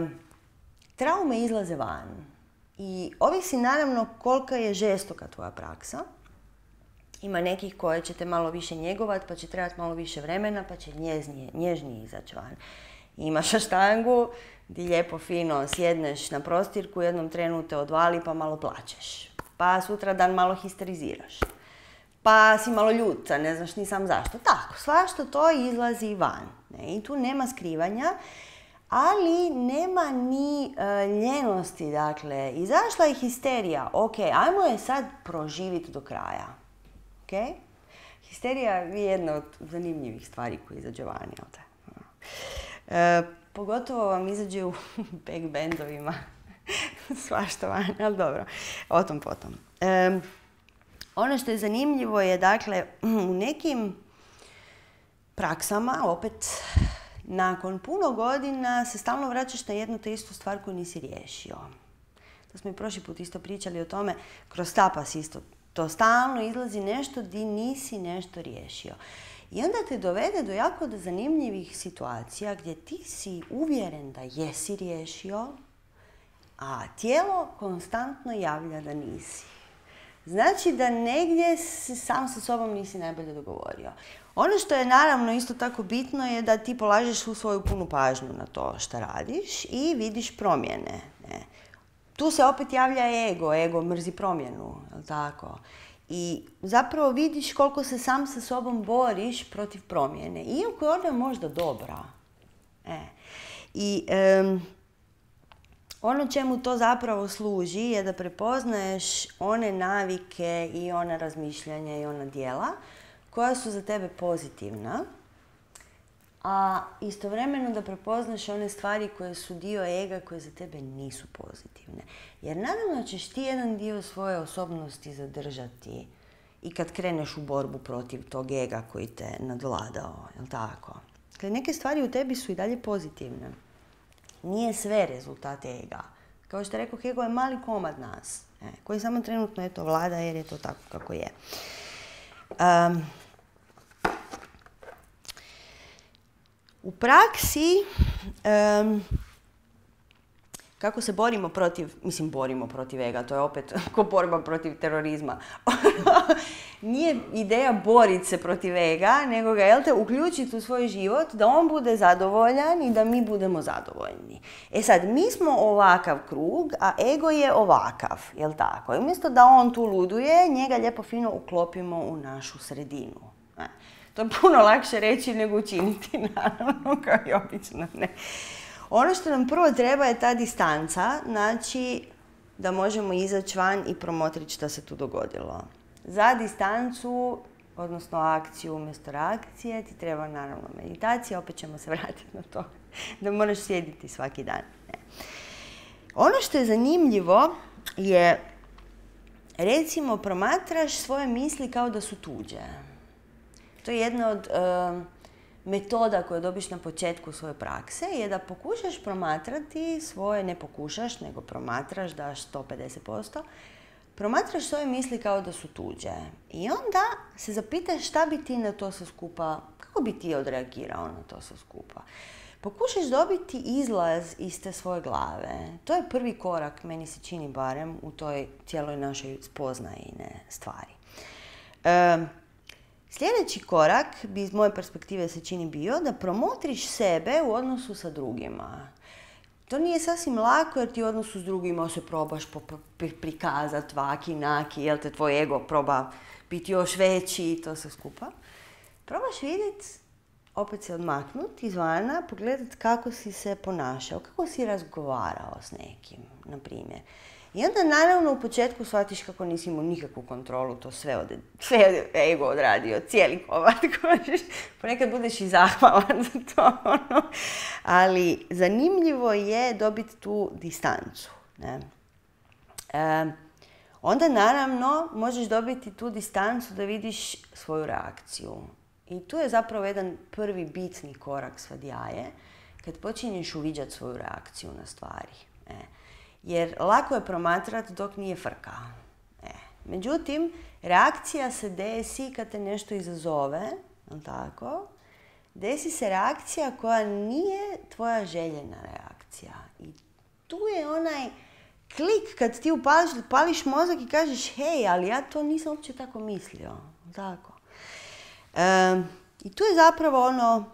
traume izlaze van. I ovisi naravno kolika je žestoka tvoja praksa. Ima nekih koje ćete malo više njegovat, pa će trebati malo više vremena, pa će nježnije, nježnije izaći van. Imaš štangu gdje lijepo fino sjedneš na prostirku, u jednom trenu te odvali pa malo plačeš. Pa sutra dan malo histeriziraš. Pa si malo ljuta, ne znaš ni sam zašto. Tako, svašta to izlazi van. Ne? I tu nema skrivanja, ali nema ni uh, ljenosti. Dakle, izašla je histerija. Ok, ajmo je sad proživiti do kraja. Okay? Histerija je jedna od zanimljivih stvari koje izađe vani. E, pogotovo vam izađe u back bandovima. Svašta vani, ali dobro. O tom potom. E, ono što je zanimljivo je, dakle, u nekim praksama, opet, nakon puno godina se stalno vraćaš na jednu te istu stvar koju nisi riješio. To smo i prošli put isto pričali o tome, kroz tapas isto. To stalno izlazi nešto di nisi nešto riješio. I onda te dovede do jako do zanimljivih situacija gdje ti si uvjeren da jesi riješio, a tijelo konstantno javlja da nisi. Znači da negdje si sam sa sobom nisi najbolje dogovorio. Ono što je naravno isto tako bitno je da ti polažeš svu svoju punu pažnju na to što radiš i vidiš promjene. Ne? Tu se opet javlja ego, ego mrzi promjenu, jel tako? I zapravo vidiš koliko se sam sa sobom boriš protiv promjene, iako je ona možda dobra. E. I um, ono čemu to zapravo služi je da prepoznaješ one navike i ona razmišljanja i ona djela koja su za tebe pozitivna, a istovremeno da prepoznaš one stvari koje su dio ega koje za tebe nisu pozitivne. Jer naravno ćeš ti jedan dio svoje osobnosti zadržati i kad kreneš u borbu protiv tog ega koji te nadvladao, jel tako? Dakle, neke stvari u tebi su i dalje pozitivne. Nije sve rezultat ega. Kao što je rekao, ego je mali komad nas, e, koji samo trenutno eto vlada jer je to tako kako je. Um, U praksi, um, kako se borimo protiv, mislim borimo protiv ega, to je opet ko borba protiv terorizma. Nije ideja boriti se protiv ega, nego ga, jel te, uključiti u svoj život da on bude zadovoljan i da mi budemo zadovoljni. E sad, mi smo ovakav krug, a ego je ovakav, jel tako? I umjesto da on tu luduje, njega lijepo fino uklopimo u našu sredinu. E. To je puno lakše reći nego učiniti, naravno, kao i obično. Ne. Ono što nam prvo treba je ta distanca, znači da možemo izaći van i promotriti što se tu dogodilo. Za distancu, odnosno akciju umjesto reakcije, ti treba naravno meditacija, opet ćemo se vratiti na to da moraš sjediti svaki dan. Ne. Ono što je zanimljivo je, recimo, promatraš svoje misli kao da su tuđe. To je jedna od uh, metoda koju dobiš na početku svoje prakse je da pokušaš promatrati svoje, ne pokušaš, nego promatraš, daš sto pedeset posto, promatraš svoje misli kao da su tuđe. I onda se zapitaš šta bi ti na to sve skupa, kako bi ti odreagirao na to sve skupa. Pokušaš dobiti izlaz iz te svoje glave. To je prvi korak, meni se čini barem, u toj cijeloj našoj spoznajine stvari. E, sljedeći korak bi iz moje perspektive se čini bio da promotriš sebe u odnosu sa drugima. To nije sasvim lako jer ti u odnosu s drugima se probaš prikazati vaki, naki, jel te tvoj ego proba biti još veći i to sve skupa. Probaš vidjeti, opet se odmaknuti izvana, pogledati kako si se ponašao, kako si razgovarao s nekim, na primjer. I onda naravno u početku shvatiš kako nisi imao nikakvu kontrolu, to sve, od, sve je ego odradio, cijeli komad kožiš. Ponekad budeš i zahvalan za to. Ono. Ali zanimljivo je dobiti tu distancu. Ne? E, onda naravno možeš dobiti tu distancu da vidiš svoju reakciju. I tu je zapravo jedan prvi bitni korak svadjaje, kad počinješ uviđati svoju reakciju na stvari. E. Jer lako je promatrati dok nije frka. E. Međutim, reakcija se desi kad te nešto izazove, tako? Desi se reakcija koja nije tvoja željena reakcija. I tu je onaj klik kad ti upališ, upališ mozak i kažeš hej, ali ja to nisam uopće tako mislio. Tako. E, I tu je zapravo ono,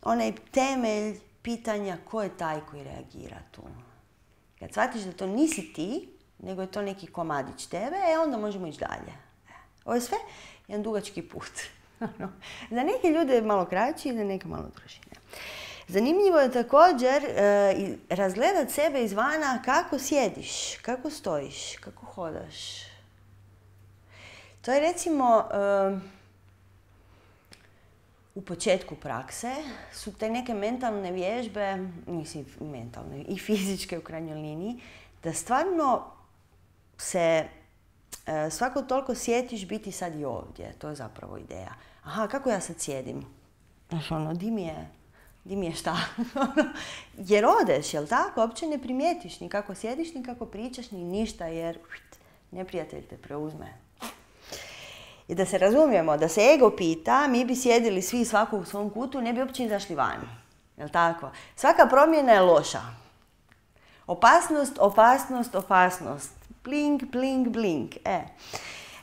onaj temelj pitanja ko je taj koji reagira tu. Kad shvatiš da to nisi ti, nego je to neki komadić tebe, e onda možemo ići dalje. Ovo je sve jedan dugački put. Za neke ljude je malo kraći, za neke malo duži. Zanimljivo je također e, razgledati sebe izvana kako sjediš, kako stojiš, kako hodaš. To je recimo... E, u početku prakse su te neke mentalne vježbe, mislim mentalne i fizičke u krajnjoj liniji, da stvarno se e, svako toliko sjetiš biti sad i ovdje. To je zapravo ideja. Aha, kako ja sad sjedim? Znaš ono, di mi je, di mi je šta? Jer odeš, jel tako? Uopće ne primijetiš ni kako sjediš, ni kako pričaš, ni ništa, jer neprijatelj te preuzme. I da se razumijemo, da se ego pita, mi bi sjedili svi svako u svom kutu, ne bi uopće izašli van. Jel tako? Svaka promjena je loša. Opasnost, opasnost, opasnost. Blink, blink, blink. E.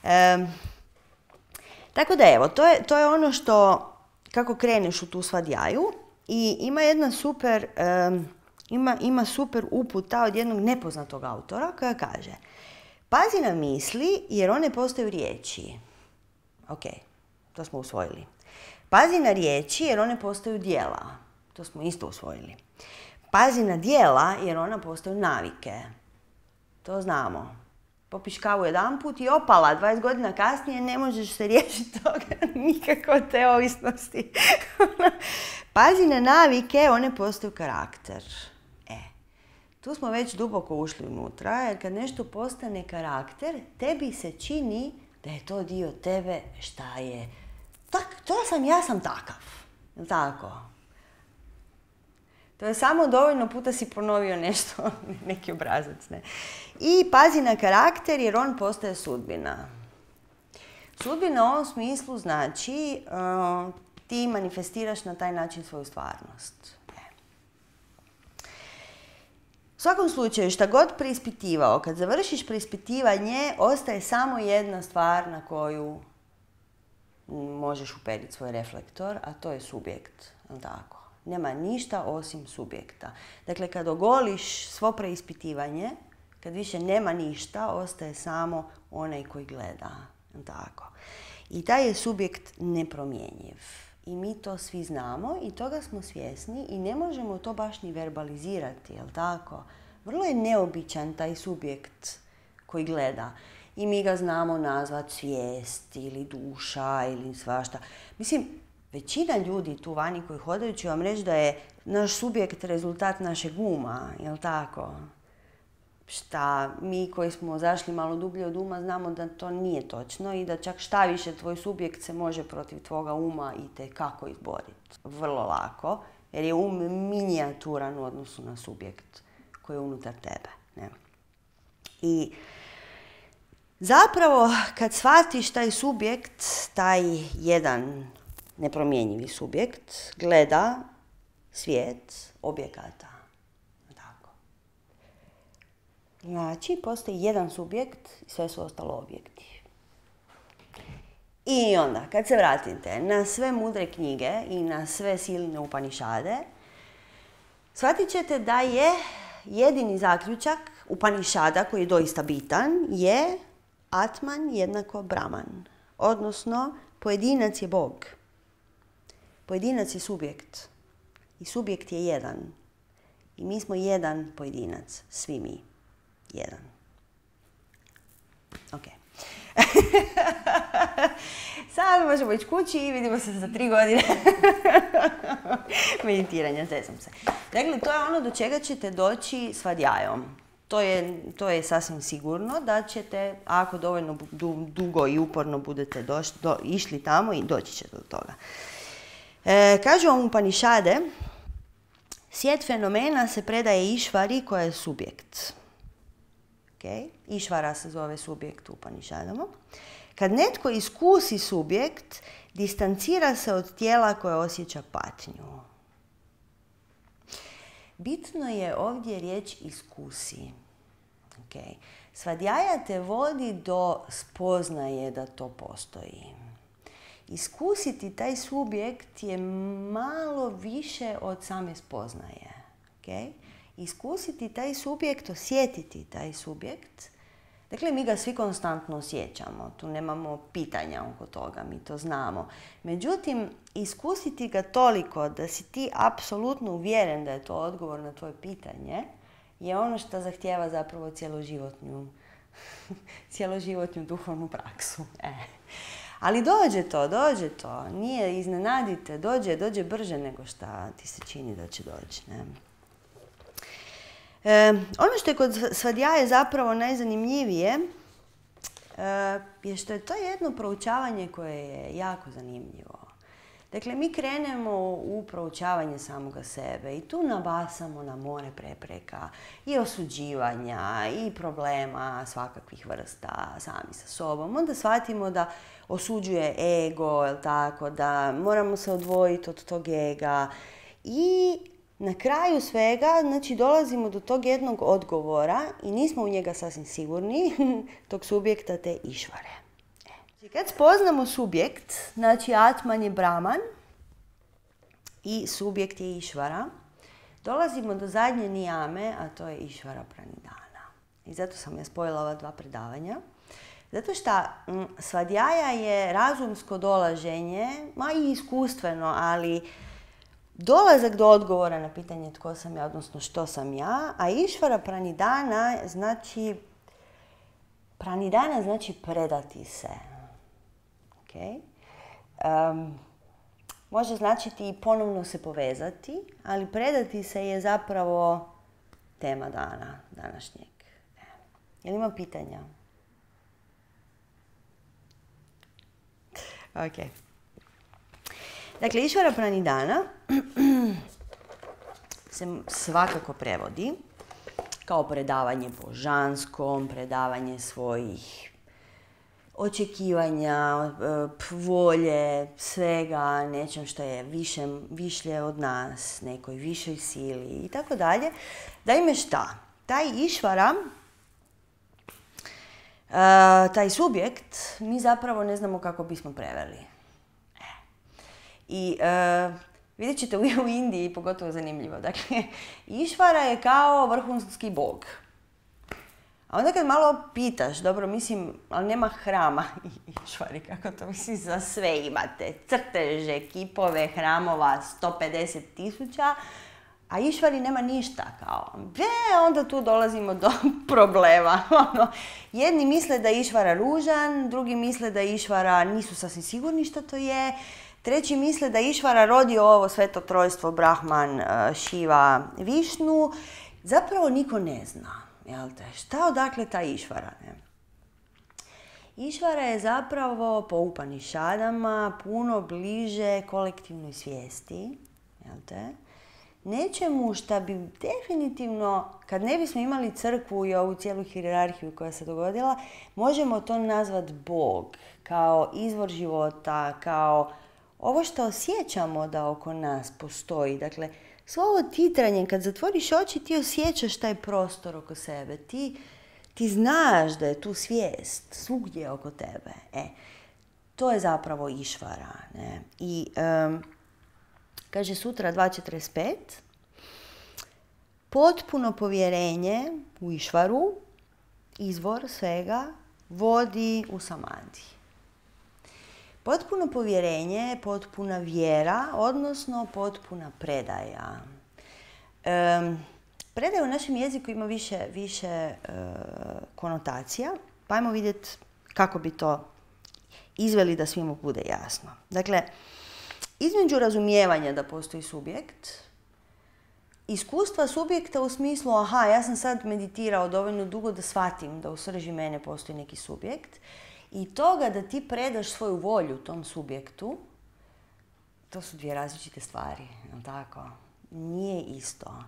E, tako da evo, to je, to je ono što, kako kreneš u tu svadjaju. I ima jedna super, um, ima, ima super uputa od jednog nepoznatog autora koja kaže: pazi na misli jer one postaju riječi. Ok, to smo usvojili. Pazi na riječi jer one postaju djela. To smo isto usvojili. Pazi na djela jer ona postaju navike. To znamo. Popiš kavu jedanput i opala, dvadeset godina kasnije ne možeš se riješiti toga, nikako od te ovisnosti. Pazi na navike, one postaju karakter. E, tu smo već duboko ušli unutra, jer kad nešto postane karakter, tebi se čini da je to dio tebe šta je. Tak, to sam, ja sam takav. Jel tako? To je samo dovoljno puta si ponovio nešto, neki obrazac, ne. I pazi na karakter jer on postaje sudbina. Sudbina u ovom smislu znači uh, ti manifestiraš na taj način svoju stvarnost. U svakom slučaju, šta god preispitivao, kad završiš preispitivanje, ostaje samo jedna stvar na koju možeš uperiti svoj reflektor, a to je subjekt. Tako. Nema ništa osim subjekta. Dakle, kad ogoliš svo preispitivanje, kad više nema ništa, ostaje samo onaj koji gleda. Tako. I taj je subjekt nepromjenjiv. I mi to svi znamo i toga smo svjesni i ne možemo to baš ni verbalizirati, jel tako? Vrlo je neobičan taj subjekt koji gleda. I mi ga znamo nazvati svijest ili duša ili svašta. Mislim, većina ljudi tu vani koji hodaju će vam reći da je naš subjekt rezultat našeg uma, jel tako? šta mi koji smo zašli malo dublje od uma znamo da to nije točno i da čak šta više tvoj subjekt se može protiv tvoga uma i te kako izboriti. Vrlo lako, jer je um minijaturan u odnosu na subjekt koji je unutar tebe. Ne? I zapravo kad shvatiš taj subjekt, taj jedan nepromjenjivi subjekt, gleda svijet objekata. Tako. Znači, postoji jedan subjekt i sve su ostalo objekti. I onda, kad se vratite na sve mudre knjige i na sve silne Upanišade, shvatit ćete da je jedini zaključak Upanišada, koji je doista bitan, je Atman jednako Brahman. Odnosno, pojedinac je Bog. Pojedinac je subjekt. I subjekt je jedan. I mi smo jedan pojedinac. Svi mi. Jedan. Ok. Sad možemo ići kući i vidimo se za tri godine meditiranja. Zezam se. Dakle, to je ono do čega ćete doći s vadjajom. To je, to je sasvim sigurno da ćete, ako dovoljno dugo i uporno budete doš, do, išli tamo, i doći ćete do toga. E, kažu vam Upanišade, svijet fenomena se predaje Išvari koja je subjekt. Okay? Išvara se zove subjekt u Upanišadama. Kad netko iskusi subjekt, distancira se od tijela koje osjeća patnju. Bitno je ovdje riječ iskusi. Okay. Svadjaja te vodi do spoznaje da to postoji. Iskusiti taj subjekt je malo više od same spoznaje. Okay? Iskusiti taj subjekt, osjetiti taj subjekt, dakle mi ga svi konstantno osjećamo, tu nemamo pitanja oko toga, mi to znamo. Međutim, iskusiti ga toliko da si ti apsolutno uvjeren da je to odgovor na tvoje pitanje, je ono što zahtijeva zapravo cjeloživotnju, cjeloživotnju duhovnu praksu. E. Ali dođe to, dođe to, nije, iznenadite, dođe, dođe brže nego što ti se čini da će doći. Ne? E, ono što je kod svadjaje zapravo najzanimljivije e, je što je to jedno proučavanje koje je jako zanimljivo. Dakle, mi krenemo u proučavanje samoga sebe i tu nabasamo na more prepreka i osuđivanja i problema svakakvih vrsta sami sa sobom. Onda shvatimo da osuđuje ego, jel tako, da moramo se odvojiti od tog ega i na kraju svega, znači, dolazimo do tog jednog odgovora i nismo u njega sasvim sigurni, tog subjekta te Išvare. Znači, kad spoznamo subjekt, znači Atman je Brahman i subjekt je Išvara, dolazimo do zadnje nijame, a to je Išvara Pranidana. I zato sam ja spojila ova dva predavanja. Zato što svadjaja je razumsko dolaženje, ma i iskustveno, ali dolazak do odgovora na pitanje tko sam ja, odnosno što sam ja, a Išvara Pranidana znači, Pranidana znači predati se. Okay? Um, može značiti i ponovno se povezati, ali predati se je zapravo tema dana, današnjeg. Jel ima pitanja? Ok. Dakle, Išvara Pranidana se svakako prevodi kao predavanje božanskom, predavanje svojih očekivanja, volje, svega, nečem što je više, višlje od nas, nekoj višoj sili i tako dalje. Da ime šta? Taj Išvara, taj subjekt, mi zapravo ne znamo kako bismo preveli. I uh, vidjet ćete u, u Indiji, pogotovo zanimljivo. Dakle, Išvara je kao vrhunski bog. A onda kad malo pitaš, dobro, mislim, ali nema hrama Išvari, kako to mislim, za sve imate. Crteže, kipove, hramova, sto pedeset tisuća, a Išvari nema ništa, kao. E, onda tu dolazimo do problema. Ono, jedni misle da je Išvara ružan, drugi misle da je Išvara, nisu sasvim sigurni što to je. Treći misle da Išvara rodi ovo sveto trojstvo, Brahman, Šiva, Višnu. Zapravo niko ne zna. jel te? Šta odakle ta išvara, ne? Išvara je zapravo po Upanišadama puno bliže kolektivnoj svijesti, jel te? Nečemu šta bi definitivno, kad ne bismo imali crkvu i ovu cijelu hijerarhiju koja se dogodila, možemo to nazvati Bog, kao izvor života, kao ovo što osjećamo da oko nas postoji. Dakle, svo ovo titranje, kad zatvoriš oči, ti osjećaš taj prostor oko sebe. Ti, ti znaš da je tu svijest svugdje oko tebe. E, to je zapravo išvara. Ne? I um, kaže sutra dva četrdeset pet, potpuno povjerenje u išvaru, izvor svega, vodi u samadi. Potpuno povjerenje, potpuna vjera, odnosno potpuna predaja. Um, predaja u našem jeziku ima više, više uh, konotacija, pa ajmo vidjeti kako bi to izveli da svima bude jasno. Dakle, između razumijevanja da postoji subjekt, iskustva subjekta u smislu, aha, ja sam sad meditirao dovoljno dugo da shvatim da u srži mene postoji neki subjekt, i toga da ti predaš svoju volju tom subjektu, to su dvije različite stvari, jel tako? Nije isto.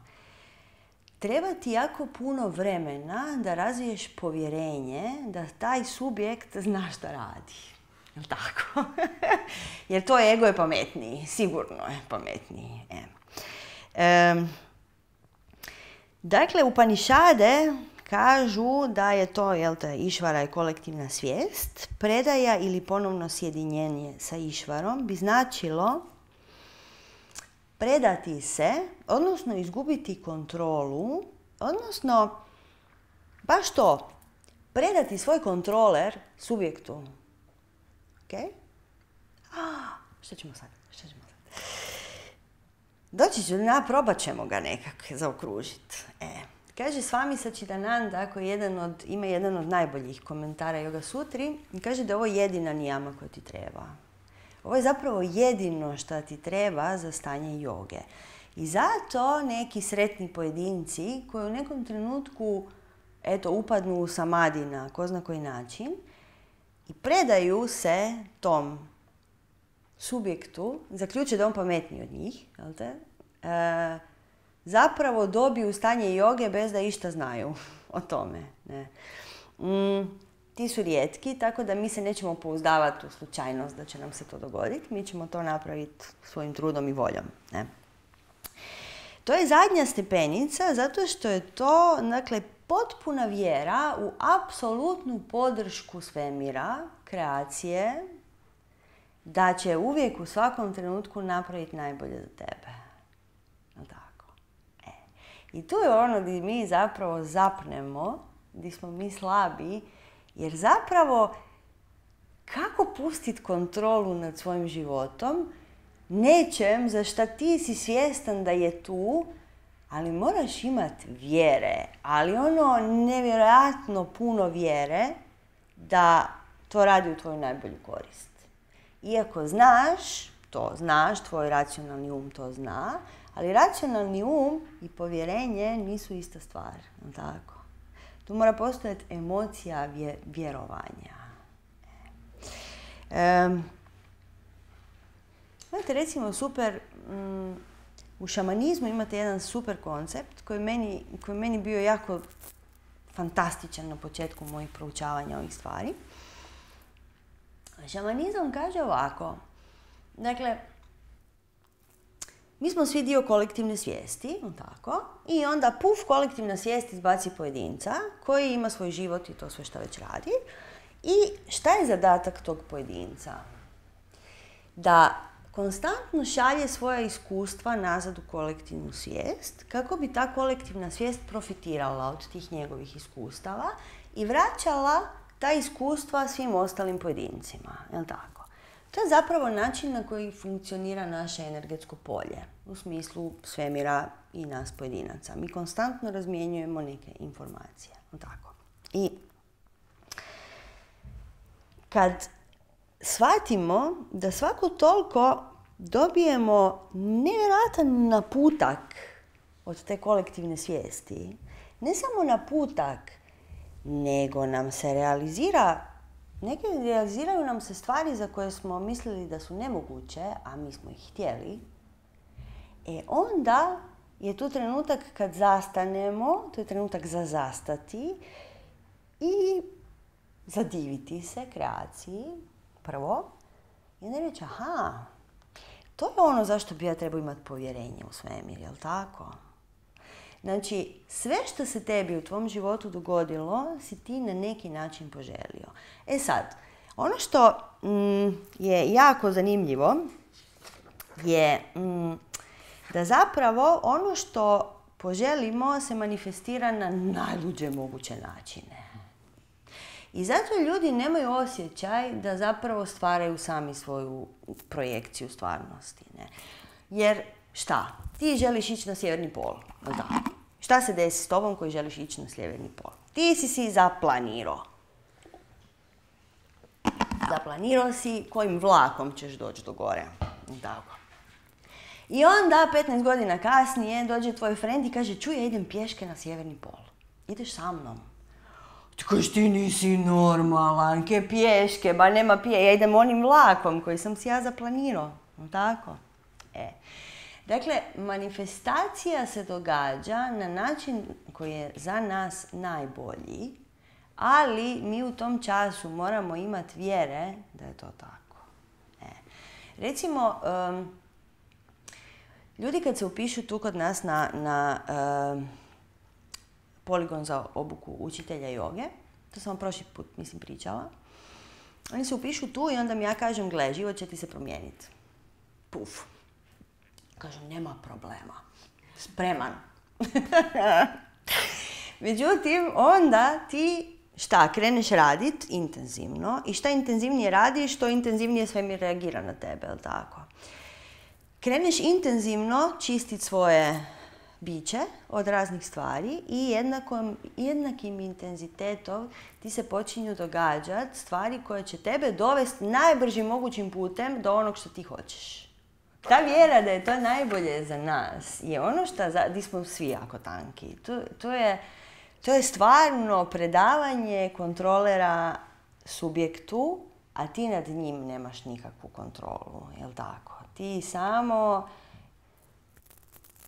Treba ti jako puno vremena da razviješ povjerenje da taj subjekt zna šta radi. Jel tako? Jer to ego je pametniji, sigurno je pametniji. E. E, dakle, Upanišade kažu da je to, jel te, išvara je kolektivna svijest. Predaja ili ponovno sjedinjenje sa išvarom bi značilo predati se, odnosno izgubiti kontrolu, odnosno baš to, predati svoj kontroler subjektu. Ok? Ah, šta ćemo sad? Šta ćemo sad? Doći ću, na, probat ćemo ga nekako zaokružiti. E. Kaže Swami Satchidananda, koji jedan od, ima jedan od najboljih komentara Yoga Sutri, i kaže da je ovo jedina nijama koja ti treba. Ovo je zapravo jedino što ti treba za stanje joge. I zato neki sretni pojedinci koji u nekom trenutku eto, upadnu u samadi na ko zna koji način i predaju se tom subjektu, zaključe da on pametniji od njih, jel te? E, zapravo dobiju stanje joge bez da išta znaju o tome. Ne. Mm, ti su rijetki, tako da mi se nećemo pouzdavati u slučajnost da će nam se to dogoditi. Mi ćemo to napraviti svojim trudom i voljom. Ne. To je zadnja stepenica zato što je to, dakle, potpuna vjera u apsolutnu podršku svemira, kreacije, da će uvijek u svakom trenutku napraviti najbolje za tebe. Tako. E. I tu je ono gdje mi zapravo zapnemo, gdje smo mi slabi, jer zapravo kako pustiti kontrolu nad svojim životom, nečem za šta ti si svjestan da je tu, ali moraš imati vjere, ali ono nevjerojatno puno vjere da to radi u tvoju najbolju korist. Iako znaš, to znaš, tvoj racionalni um to zna, ali racionalni um i povjerenje nisu ista stvar, tako? Tu mora postojati emocija vje, vjerovanja. E, imate recimo super, mm, u šamanizmu imate jedan super koncept koji meni, koji meni bio jako fantastičan na početku mojih proučavanja ovih stvari. Šamanizam kaže ovako, dakle, mi smo svi dio kolektivne svijesti, tako, i onda puf, kolektivna svijest izbaci pojedinca koji ima svoj život i to sve što već radi. I šta je zadatak tog pojedinca? Da konstantno šalje svoja iskustva nazad u kolektivnu svijest kako bi ta kolektivna svijest profitirala od tih njegovih iskustava i vraćala ta iskustva svim ostalim pojedincima. Jel' tako? To je zapravo način na koji funkcionira naše energetsko polje u smislu svemira i nas pojedinaca. Mi konstantno razmjenjujemo neke informacije. Jel' tako? I kad shvatimo da svako toliko dobijemo nevjerojatan naputak od te kolektivne svijesti, ne samo naputak, nego nam se realizira, neke realiziraju nam se stvari za koje smo mislili da su nemoguće, a mi smo ih htjeli. E onda je tu trenutak kad zastanemo, to je trenutak za zastati i zadiviti se kreaciji, prvo, i onda reći, aha, to je ono zašto bi ja trebao imati povjerenje u svemir, jel tako? Znači, sve što se tebi u tvom životu dogodilo, si ti na neki način poželio. E sad, ono što mm, je jako zanimljivo je mm, da zapravo ono što poželimo se manifestira na najluđe moguće načine. I zato ljudi nemaju osjećaj da zapravo stvaraju sami svoju projekciju stvarnosti. Ne? Jer šta? Ti želiš ići na sjeverni pol. Da. Šta se desi s tobom koji želiš ići na sjeverni pol? Ti si si zaplanirao. Zaplanirao si kojim vlakom ćeš doći do gore. Tako. I onda, petnaest godina kasnije, dođe tvoj friend i kaže, čuj, ja idem pješke na sjeverni pol. Ideš sa mnom. Ti kažeš, ti nisi normalan, ke pješke, ba nema pije, ja idem onim vlakom koji sam si ja zaplanirao. Tako? E. Dakle, manifestacija se događa na način koji je za nas najbolji, ali mi u tom času moramo imati vjere da je to tako. E. Recimo, um, ljudi kad se upišu tu kod nas na, na um, poligon za obuku učitelja joge, to sam vam prošli put, mislim, pričala, oni se upišu tu i onda mi ja kažem, gle, život će ti se promijeniti. Puf. Kažem, nema problema. Spreman. Međutim, onda ti šta, kreneš radit intenzivno i šta intenzivnije radiš, to intenzivnije svemir reagira na tebe, jel tako? Kreneš intenzivno čistiti svoje biće od raznih stvari i jednakom, jednakim intenzitetom ti se počinju događati stvari koje će tebe dovesti najbržim mogućim putem do onog što ti hoćeš. Ta vjera da je to najbolje za nas je ono što, di smo svi jako tanki. To, to, je, to je stvarno predavanje kontrolera subjektu, a ti nad njim nemaš nikakvu kontrolu, jel tako? Ti samo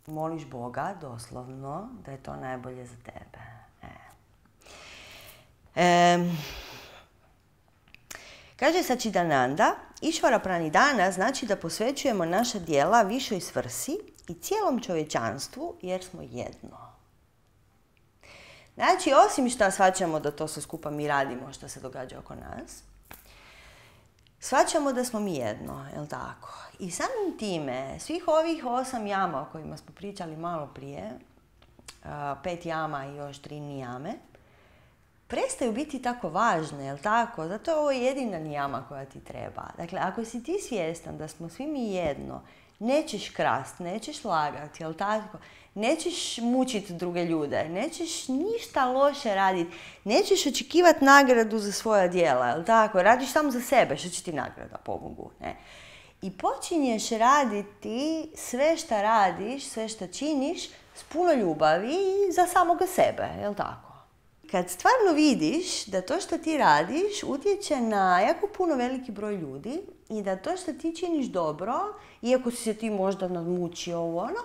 moliš Boga, doslovno, da je to najbolje za tebe. E. E, kaže Sačidananda, Išvara Pranidana znači da posvećujemo naša djela višoj svrsi i cijelom čovječanstvu jer smo jedno. Znači, osim što shvaćamo da to sve skupa mi radimo što se događa oko nas, shvaćamo da smo mi jedno, jel tako? I samim time, svih ovih osam jama o kojima smo pričali malo prije, pet jama i još tri nijame, prestaju biti tako važne, jel tako? Zato je ovo jedina nijama koja ti treba. Dakle, ako si ti svjestan da smo svi mi jedno, nećeš krast, nećeš lagati, jel tako? Nećeš mučiti druge ljude, nećeš ništa loše raditi, nećeš očekivati nagradu za svoja djela, jel tako? Radiš samo za sebe, što će ti nagrada, pobogu, ne? I počinješ raditi sve šta radiš, sve šta činiš s puno ljubavi i za samoga sebe, jel tako? Kad stvarno vidiš da to što ti radiš utječe na jako puno veliki broj ljudi i da to što ti činiš dobro, iako si se ti možda nadmučio u ono,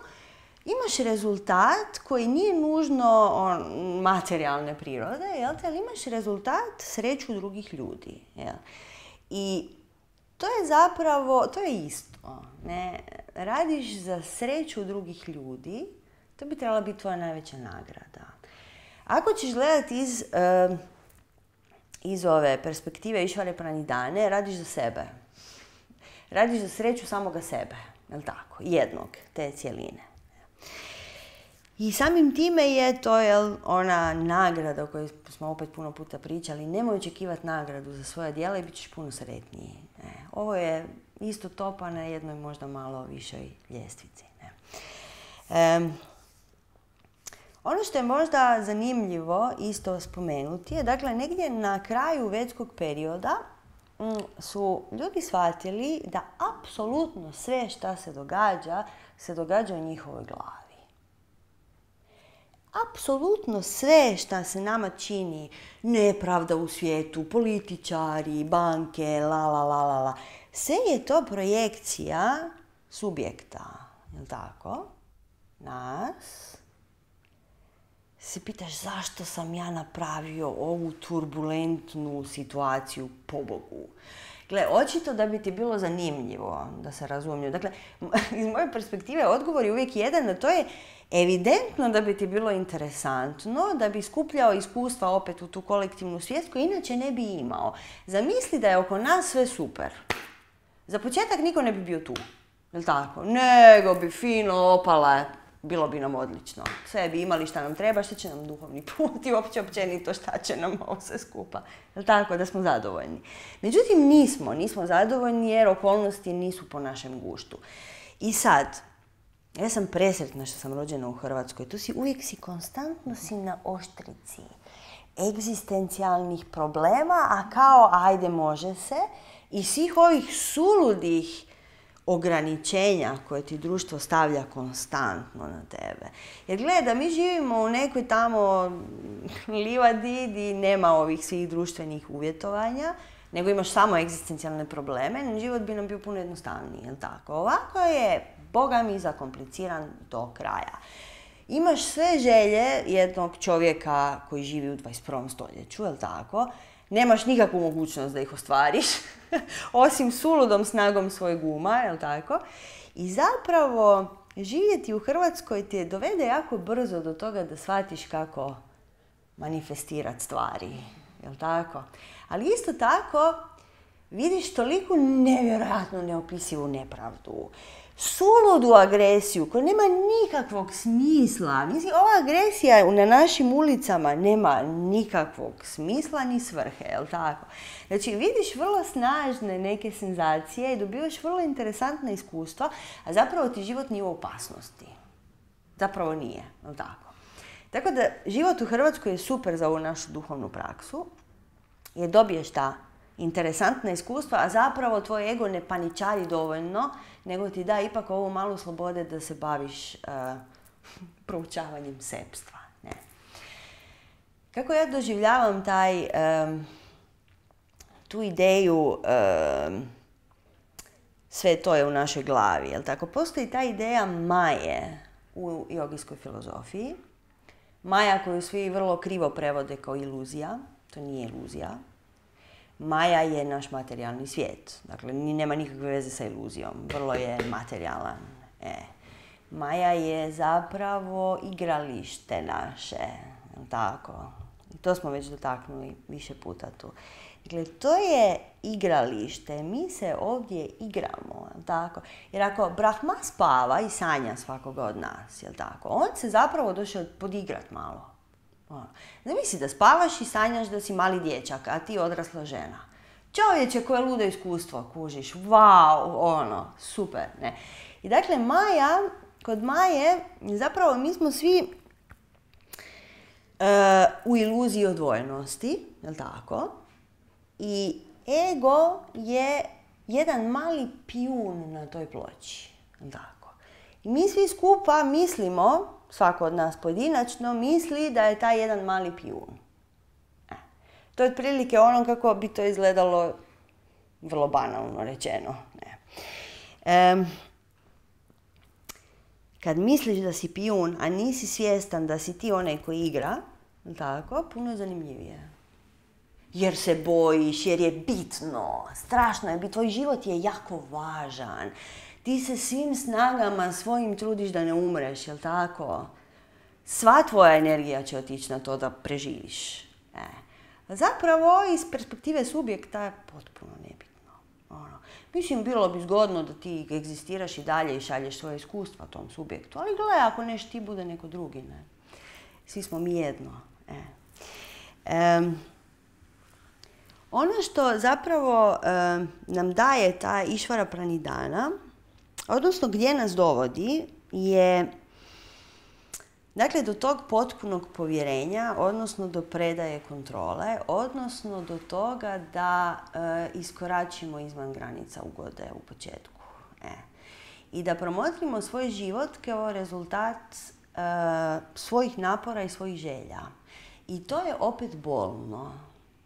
imaš rezultat koji nije nužno on, materijalne prirode, jel te, ali imaš rezultat sreću drugih ljudi. Jel? I to je zapravo, to je isto. Ne? Radiš za sreću drugih ljudi, to bi trebala biti tvoja najveća nagrada. Ako ćeš gledati iz, uh, iz ove perspektive Išvare Pranidane, radiš za sebe. Radiš za sreću samoga sebe, jel tako? Jednog, te cijeline. I samim time je to jel, ona nagrada o kojoj smo opet puno puta pričali. Nemoj očekivati nagradu za svoja djela i bit ćeš puno sretniji. Ne. Ovo je isto to pa na jednoj možda malo višoj ljestvici. Ne. E, ono što je možda zanimljivo isto spomenuti je, dakle, negdje na kraju vedskog perioda m, su ljudi shvatili da apsolutno sve što se događa, se događa u njihovoj glavi. apsolutno sve što se nama čini, nepravda u svijetu, političari, banke, la la la la la, sve je to projekcija subjekta, jel tako? Nas. Se pitaš zašto sam ja napravio ovu turbulentnu situaciju, pobogu. Gle, očito da bi ti bilo zanimljivo, da se razumijem. Dakle, iz moje perspektive odgovor je uvijek jedan, a to je evidentno da bi ti bilo interesantno, da bi skupljao iskustva opet u tu kolektivnu svijest koju inače ne bi imao. Zamisli da je oko nas sve super. Za početak niko ne bi bio tu, jel tako? Nego bi fino opala, bilo bi nam odlično. Sve bi imali šta nam treba, šta će nam duhovni put i uopće općenito šta će nam ovo sve skupa. Jel tako? Da smo zadovoljni. Međutim, nismo. Nismo zadovoljni jer okolnosti nisu po našem guštu. I sad, ja sam presretna što sam rođena u Hrvatskoj. Tu si uvijek si konstantno si na oštrici egzistencijalnih problema, a kao ajde može se, i svih ovih suludih ograničenja koje ti društvo stavlja konstantno na tebe. Jer gledaj, da mi živimo u nekoj tamo livadi gdje nema ovih svih društvenih uvjetovanja, nego imaš samo egzistencijalne probleme, život bi nam bio puno jednostavniji, jel tako? Ovako je, Boga mi, zakompliciran do kraja. Imaš sve želje jednog čovjeka koji živi u dvadeset prvom stoljeću, jel tako? Nemaš nikakvu mogućnost da ih ostvariš, osim suludom snagom svojeg uma, jel tako? I zapravo živjeti u Hrvatskoj te dovede jako brzo do toga da shvatiš kako manifestirati stvari, jel tako? Ali isto tako vidiš toliko nevjerojatno neopisivu nepravdu, suludu agresiju koja nema nikakvog smisla. Mislim, ova agresija na našim ulicama nema nikakvog smisla ni svrhe, jel tako? Znači, vidiš vrlo snažne neke senzacije i dobivaš vrlo interesantna iskustva, a zapravo ti život nije u opasnosti. Zapravo nije, jel tako? Tako da, život u Hrvatskoj je super za ovu našu duhovnu praksu, jer dobiješ ta interesantna iskustva, a zapravo tvoj ego ne paničari dovoljno, nego ti da ipak ovu malu slobode da se baviš uh, proučavanjem sebstva. Ne. Kako ja doživljavam taj, um, tu ideju, um, sve to je u našoj glavi, jel tako? Postoji ta ideja maje u jogijskoj filozofiji. Maja koju svi vrlo krivo prevode kao iluzija, to nije iluzija. Maja je naš materijalni svijet. Dakle, nema nikakve veze sa iluzijom. Vrlo je materijalan. E. Maja je zapravo igralište naše. Tako. To smo već dotaknuli više puta tu. Dakle, to je igralište. Mi se ovdje igramo. Tako. Jer ako Brahma spava i sanja svakoga od nas, jel tako, on se zapravo došao podigrat malo. Zamisli da spavaš i sanjaš da si mali dječak, a ti odrasla žena. Čovječe, koje ludo iskustvo, kužiš, wow, ono, super, ne. I dakle, Maja, kod Maje, zapravo mi smo svi uh, u iluziji odvojenosti, jel tako? I ego je jedan mali pijun na toj ploči, jel tako? I mi svi skupa mislimo, svako od nas pojedinačno, misli da je taj jedan mali pijun. E. To je otprilike ono kako bi to izgledalo, vrlo banalno rečeno. Ne. E, kad misliš da si pijun, a nisi svjestan da si ti onaj koji igra, tako, puno je zanimljivije. Jer se bojiš, jer je bitno, strašno je, tvoj život je jako važan. Ti se svim snagama svojim trudiš da ne umreš, jel tako? Sva tvoja energija će otići na to da preživiš. E. Zapravo, iz perspektive subjekta je potpuno nebitno. Ono. Mislim, bilo bi zgodno da ti egzistiraš i dalje i šalješ svoje iskustva tom subjektu. Ali gledaj, ako neš ti, bude neko drugi. Ne? Svi smo mi jedno. E. E. Ono što zapravo e, nam daje ta Išvara Pranidhana, odnosno gdje nas dovodi, je dakle do tog potpunog povjerenja, odnosno do predaje kontrole, odnosno do toga da e, iskoračimo izvan granica ugode u početku. E. I da promotrimo svoj život kao rezultat e, svojih napora i svojih želja. I to je opet bolno.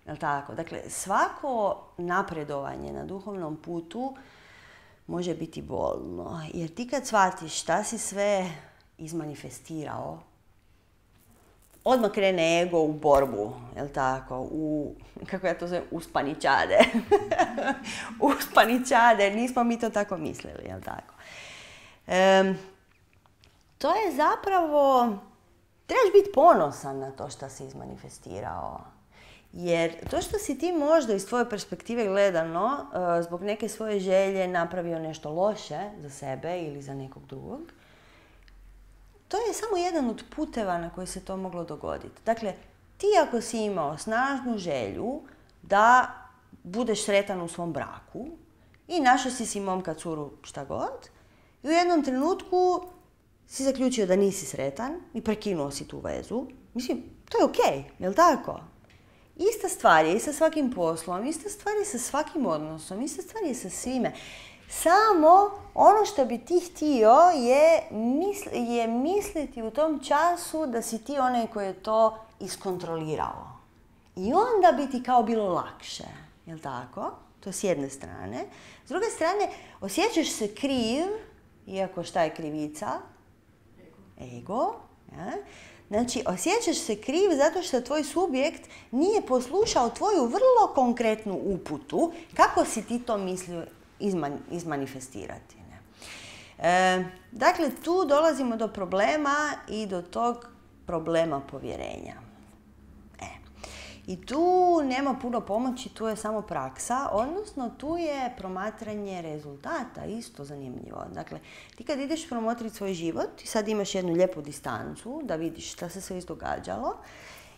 Jel' tako? Dakle, svako napredovanje na duhovnom putu može biti bolno. Jer ti kad shvatiš šta si sve izmanifestirao, odmah krene ego u borbu, jel' tako? U, kako ja to zovem, uspaničade. Uspaničade, nismo mi to tako mislili, jel' tako? Um, to je zapravo, trebaš biti ponosan na to što si izmanifestirao. Jer to što si ti možda iz tvoje perspektive gledano, uh, zbog neke svoje želje napravio nešto loše za sebe ili za nekog drugog, to je samo jedan od puteva na koji se to moglo dogoditi. Dakle, ti ako si imao snažnu želju da budeš sretan u svom braku i našao si si momka, curu, šta god, i u jednom trenutku si zaključio da nisi sretan i prekinuo si tu vezu, mislim, to je okej, jel' tako? Ista stvar je i sa svakim poslom, ista stvar je sa svakim odnosom, ista stvar je sa svime. Samo ono što bi ti htio je, misl, je misliti u tom času da si ti onaj koji je to iskontrolirao. I onda bi ti kao bilo lakše, jel' tako? To je s jedne strane. S druge strane, osjećaš se kriv, iako šta je krivica? Ego. Ego, ja? Znači, osjećaš se kriv zato što tvoj subjekt nije poslušao tvoju vrlo konkretnu uputu kako si ti to mislio izman, izmanifestirati. Ne? E, dakle, tu dolazimo do problema i do tog problema povjerenja. E. I tu nema puno pomoći, tu je samo praksa, odnosno tu je promatranje rezultata, isto zanimljivo. Dakle, ti kad ideš promotriti svoj život i sad imaš jednu lijepu distancu da vidiš šta se sve izdogađalo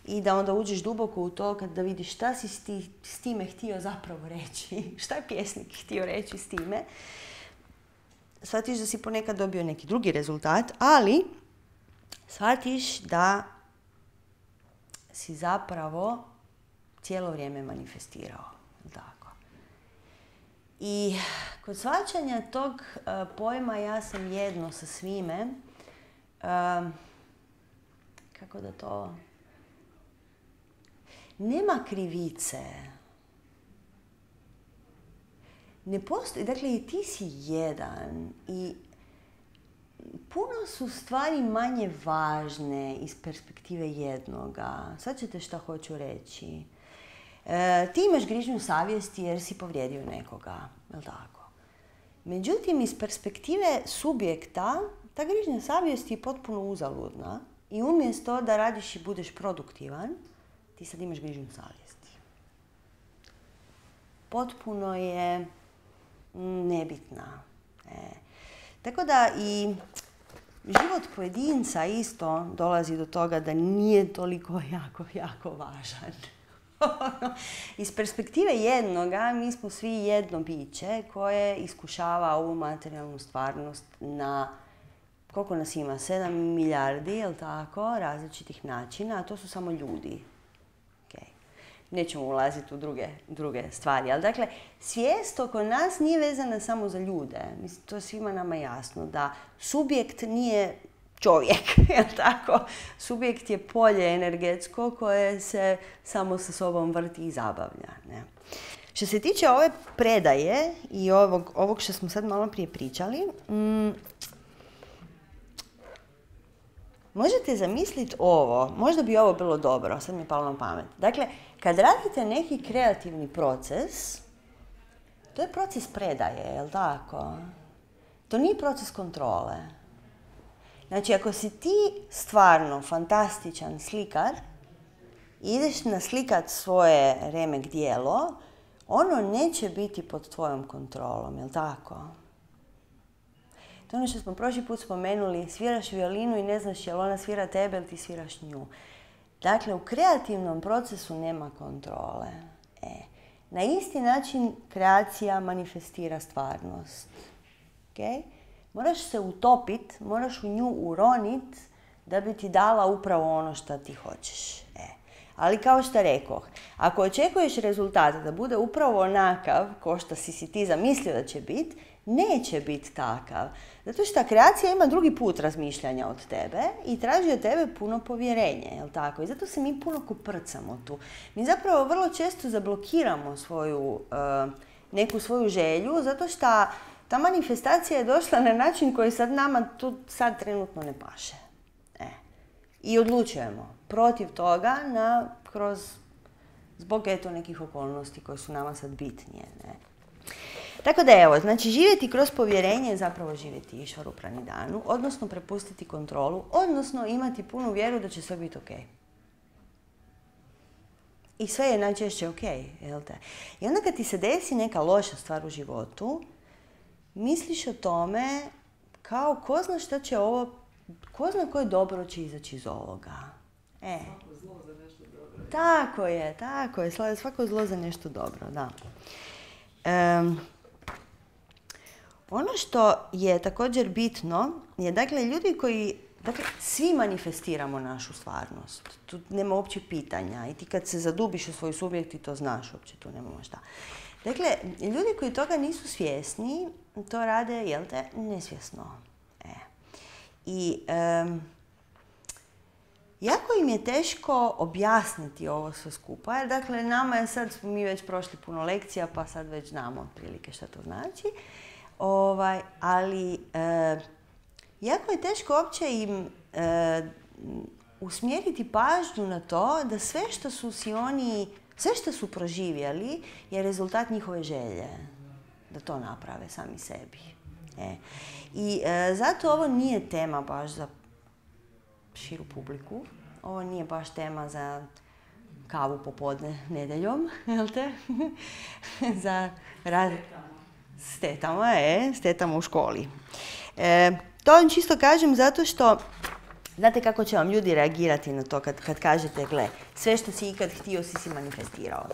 i da onda uđeš duboko u to da vidiš šta si s, ti, s time htio zapravo reći, šta je pjesnik htio reći s time, shvatiš da si ponekad dobio neki drugi rezultat, ali shvatiš da si zapravo cijelo vrijeme manifestirao. Tako. I kod shvaćanja tog uh, pojma ja sam jedno sa svime, uh, kako da to... Nema krivice. Ne postoji, dakle i ti si jedan i puno su stvari manje važne iz perspektive jednoga. Sad ćete šta hoću reći. E, ti imaš grižnju savjesti jer si povrijedio nekoga, je li tako? Međutim, iz perspektive subjekta, ta grižnja savjesti je potpuno uzaludna i umjesto da radiš i budeš produktivan, ti sad imaš grižnju savjesti. Potpuno je nebitna. E. Tako da i život pojedinca isto dolazi do toga da nije toliko jako, jako važan. Iz perspektive jednoga, mi smo svi jedno biće koje iskušava ovu materijalnu stvarnost na, koliko nas ima, sedam milijardi, jel' tako, različitih načina, a to su samo ljudi. Okay. Nećemo ulaziti u druge, druge stvari, ali dakle, svijest oko nas nije vezana samo za ljude. Mislim, to je svima nama jasno, da subjekt nije čovjek, jel' tako? Subjekt je polje energetsko koje se samo sa sobom vrti i zabavlja. Ne? Što se tiče ove predaje i ovog, ovog što smo sad malo prije pričali, mm, možete zamisliti ovo, možda bi ovo bilo dobro, sad mi je palo na pamet. Dakle, kad radite neki kreativni proces, to je proces predaje, jel' tako? To nije proces kontrole. Znači, ako si ti stvarno fantastičan slikar i ideš naslikat svoje remek djelo, ono neće biti pod tvojom kontrolom, jel' tako? To je ono što smo prošli put spomenuli, sviraš violinu i ne znaš je li ona svira tebe ili ti sviraš nju. Dakle, u kreativnom procesu nema kontrole. E, na isti način kreacija manifestira stvarnost. Okay? Moraš se utopit, moraš u nju uronit da bi ti dala upravo ono što ti hoćeš. E. Ali kao što rekoh, ako očekuješ rezultat da bude upravo onakav ko što si si ti zamislio da će biti, neće biti takav. Zato što kreacija ima drugi put razmišljanja od tebe i traži od tebe puno povjerenja, jel tako? I zato se mi puno koprcamo tu. Mi zapravo vrlo često zablokiramo svoju, uh, neku svoju želju, zato što ta manifestacija je došla na način koji sad nama tu sad trenutno ne paše. E. I odlučujemo protiv toga na, kroz, zbog eto nekih okolnosti koje su nama sad bitnije. Ne? Tako da evo, znači živjeti kroz povjerenje je zapravo živjeti Išvaru Pranidhanu, odnosno prepustiti kontrolu, odnosno imati punu vjeru da će sve biti ok. I sve je najčešće ok, jel te? I onda kad ti se desi neka loša stvar u životu, misliš o tome kao ko zna šta će ovo, ko zna koje dobro će izaći iz ovoga. E. Svako zlo za nešto dobro. Tako je, tako je, svako zlo za nešto dobro, da. Um, ono što je također bitno je, dakle, ljudi koji, dakle, svi manifestiramo našu stvarnost. Tu nema uopće pitanja i ti kad se zadubiš u svoj subjekt ti to znaš, uopće tu nema šta. Dakle, ljudi koji toga nisu svjesni, to rade, jel te, nesvjesno. E. I um, jako im je teško objasniti ovo sve skupa, jer dakle, nama je sad, mi već prošli puno lekcija, pa sad već znamo otprilike šta to znači. Ovaj, ali e, jako je teško uopće im e, usmjeriti pažnju na to da sve što su si oni, sve što su proživjeli je rezultat njihove želje. Da to naprave sami sebi. E. I e, zato ovo nije tema baš za širu publiku. Ovo nije baš tema za kavu popodne nedeljom, jel te? Za rad... S tetama, e, s tetama u školi. E, to vam čisto kažem zato što, znate kako će vam ljudi reagirati na to kad, kad kažete, gle, sve što si ikad htio si si manifestirao.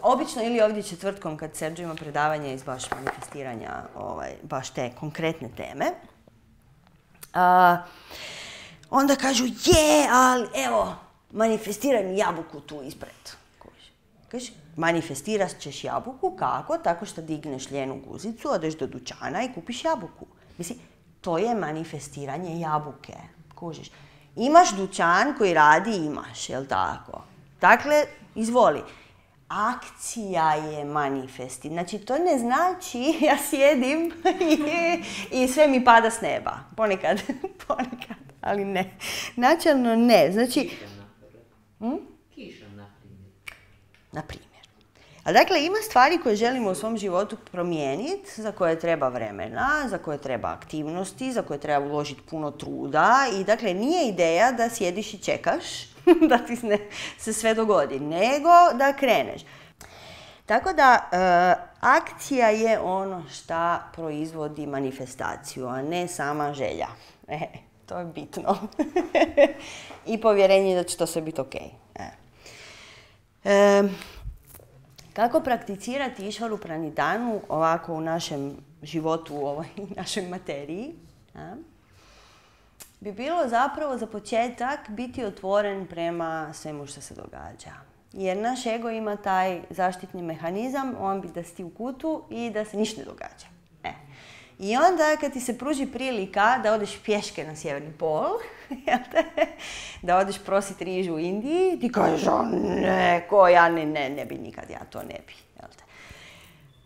Obično ili ovdje četvrtkom kad Sergio ima predavanje iz baš manifestiranja, ovaj, baš te konkretne teme, a, onda kažu, je, ali evo, manifestiraj mi jabuku tu ispred. Kaži, manifestirat ćeš jabuku, kako? Tako što digneš ljenu guzicu, odeš do dućana i kupiš jabuku. Mislim, to je manifestiranje jabuke. Kužiš. Imaš dućan koji radi, imaš, jel tako? Dakle, izvoli. Akcija je manifesti. Znači, to ne znači ja sjedim i, i sve mi pada s neba. Ponekad, ponekad, ali ne. Načelno ne. Znači... Hm? Na primjer. A dakle, ima stvari koje želimo u svom životu promijeniti, za koje treba vremena, za koje treba aktivnosti, za koje treba uložiti puno truda i dakle, nije ideja da sjediš i čekaš da ti ne, se sve dogodi, nego da kreneš. Tako da, e, akcija je ono šta proizvodi manifestaciju, a ne sama želja. E, to je bitno. I povjerenje da će to sve biti ok. E. E, kako prakticirati Išvaru Pranidhanu ovako u našem životu, u ovoj našoj materiji? A? Bi bilo zapravo za početak biti otvoren prema svemu što se događa. Jer naš ego ima taj zaštitni mehanizam, on bi da si ti u kutu i da se ništa ne događa. E. I onda kad ti se pruži prilika da odeš pješke na sjeverni pol, da odeš prosit rižu u Indiji, ti kažeš, o ne, ko ja ne, ne, ne bi nikad, ja to ne bi.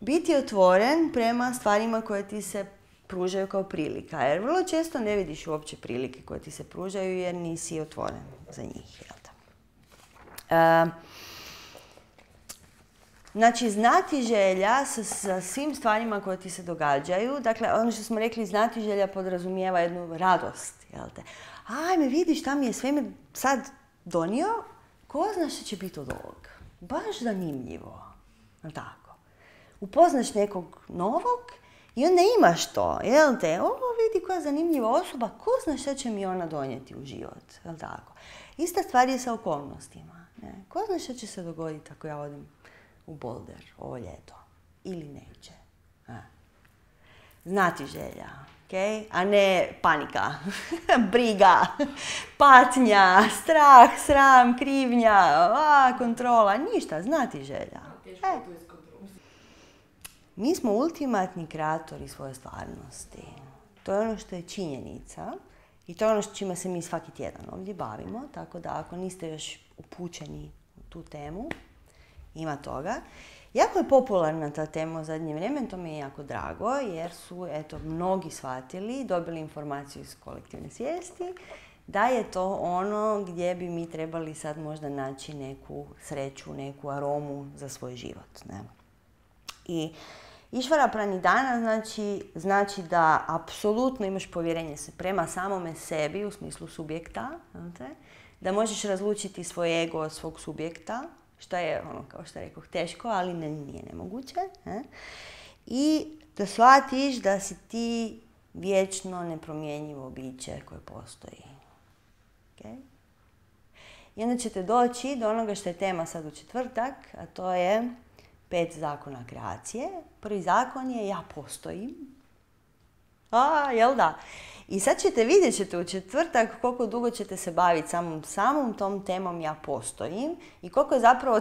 Biti otvoren prema stvarima koje ti se pružaju kao prilika, jer vrlo često ne vidiš uopće prilike koje ti se pružaju jer nisi otvoren za njih. Jel da? Uh, Znači, znati želja sa, sa svim stvarima koje ti se događaju, dakle, ono što smo rekli, znati želja podrazumijeva jednu radost, jel te? Ajme, vidiš, šta mi je svemir sad donio, ko zna što će biti od ovog? Baš zanimljivo, jel tako? Upoznaš nekog novog i onda imaš to, jel te? O, vidi koja zanimljiva osoba, ko zna što će mi ona donijeti u život, jel tako? Ista stvar je sa okolnostima, ne? Ko zna što će se dogoditi ako ja odim u Boulder ovo ljeto. Ili neće. A. Znati želja, okay? A ne panika, briga, patnja, strah, sram, krivnja, a, kontrola, ništa, znati želja. E. Mi smo ultimatni kreatori svoje stvarnosti. To je ono što je činjenica i to je ono čime se mi svaki tjedan ovdje bavimo, tako da ako niste još upućeni u tu temu, ima toga. Jako je popularna ta tema u zadnje vrijeme, to mi je jako drago, jer su eto, mnogi shvatili, dobili informaciju iz kolektivne svijesti, da je to ono gdje bi mi trebali sad možda naći neku sreću, neku aromu za svoj život. Ne? I Išvara Pranidhana znači, znači da apsolutno imaš povjerenje se prema samome sebi u smislu subjekta, znate? Da možeš razlučiti svoj ego od svog subjekta, što je, ono, kao što rekao, teško, ali ne, nije nemoguće. Ne? I da shvatiš da si ti vječno nepromjenjivo biće koje postoji. Okay? I onda ćete doći do onoga što je tema sad u četvrtak, a to je pet zakona kreacije. Prvi zakon je ja postojim. A, jel da? I sad ćete, vidjet ćete u četvrtak koliko dugo ćete se baviti samom, samom tom temom ja postojim i koliko je zapravo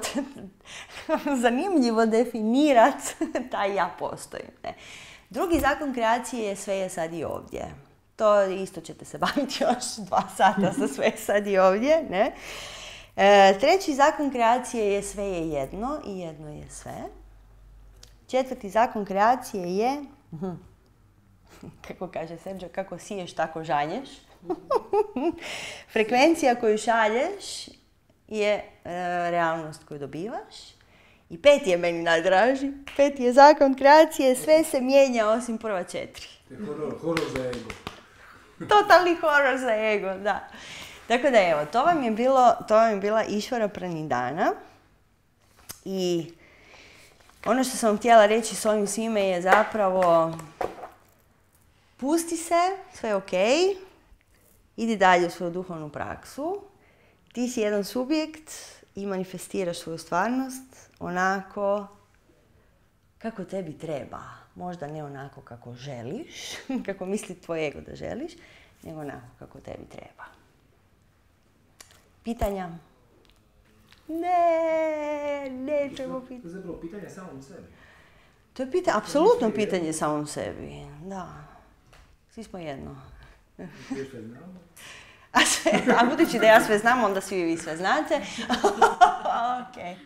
zanimljivo definirati taj ja postojim. Ne? Drugi zakon kreacije je sve je sad i ovdje. To isto ćete se baviti još dva sata sa sve sad i ovdje. Ne? E, treći zakon kreacije je sve je jedno i jedno je sve. Četvrti zakon kreacije je, kako kaže Sergio, kako siješ, tako žanješ. Frekvencija koju šalješ je e, realnost koju dobivaš. I peti je meni najdraži. Peti je zakon kreacije, sve se mijenja osim prva četiri. Horor, horor za ego. Totalni horor za ego, da. Tako da evo, to vam je, bilo, to vam je bila Išvara Pranidhana. I ono što sam vam htjela reći s ovim svime je zapravo pusti se, sve je okej, idi dalje u svoju duhovnu praksu. Ti si jedan subjekt i manifestiraš svoju stvarnost onako kako tebi treba. Možda ne onako kako želiš, kako misli tvoj ego da želiš, nego onako kako tebi treba. Pitanja? Ne, nećemo pitati. To je zapravo pitanje samom sebi. To je pitanje, apsolutno pitanje samom sebi, da. Svi smo jedno. Sve sve znamo. A, sve, a budući da ja sve znam, onda svi vi sve znate. Ok.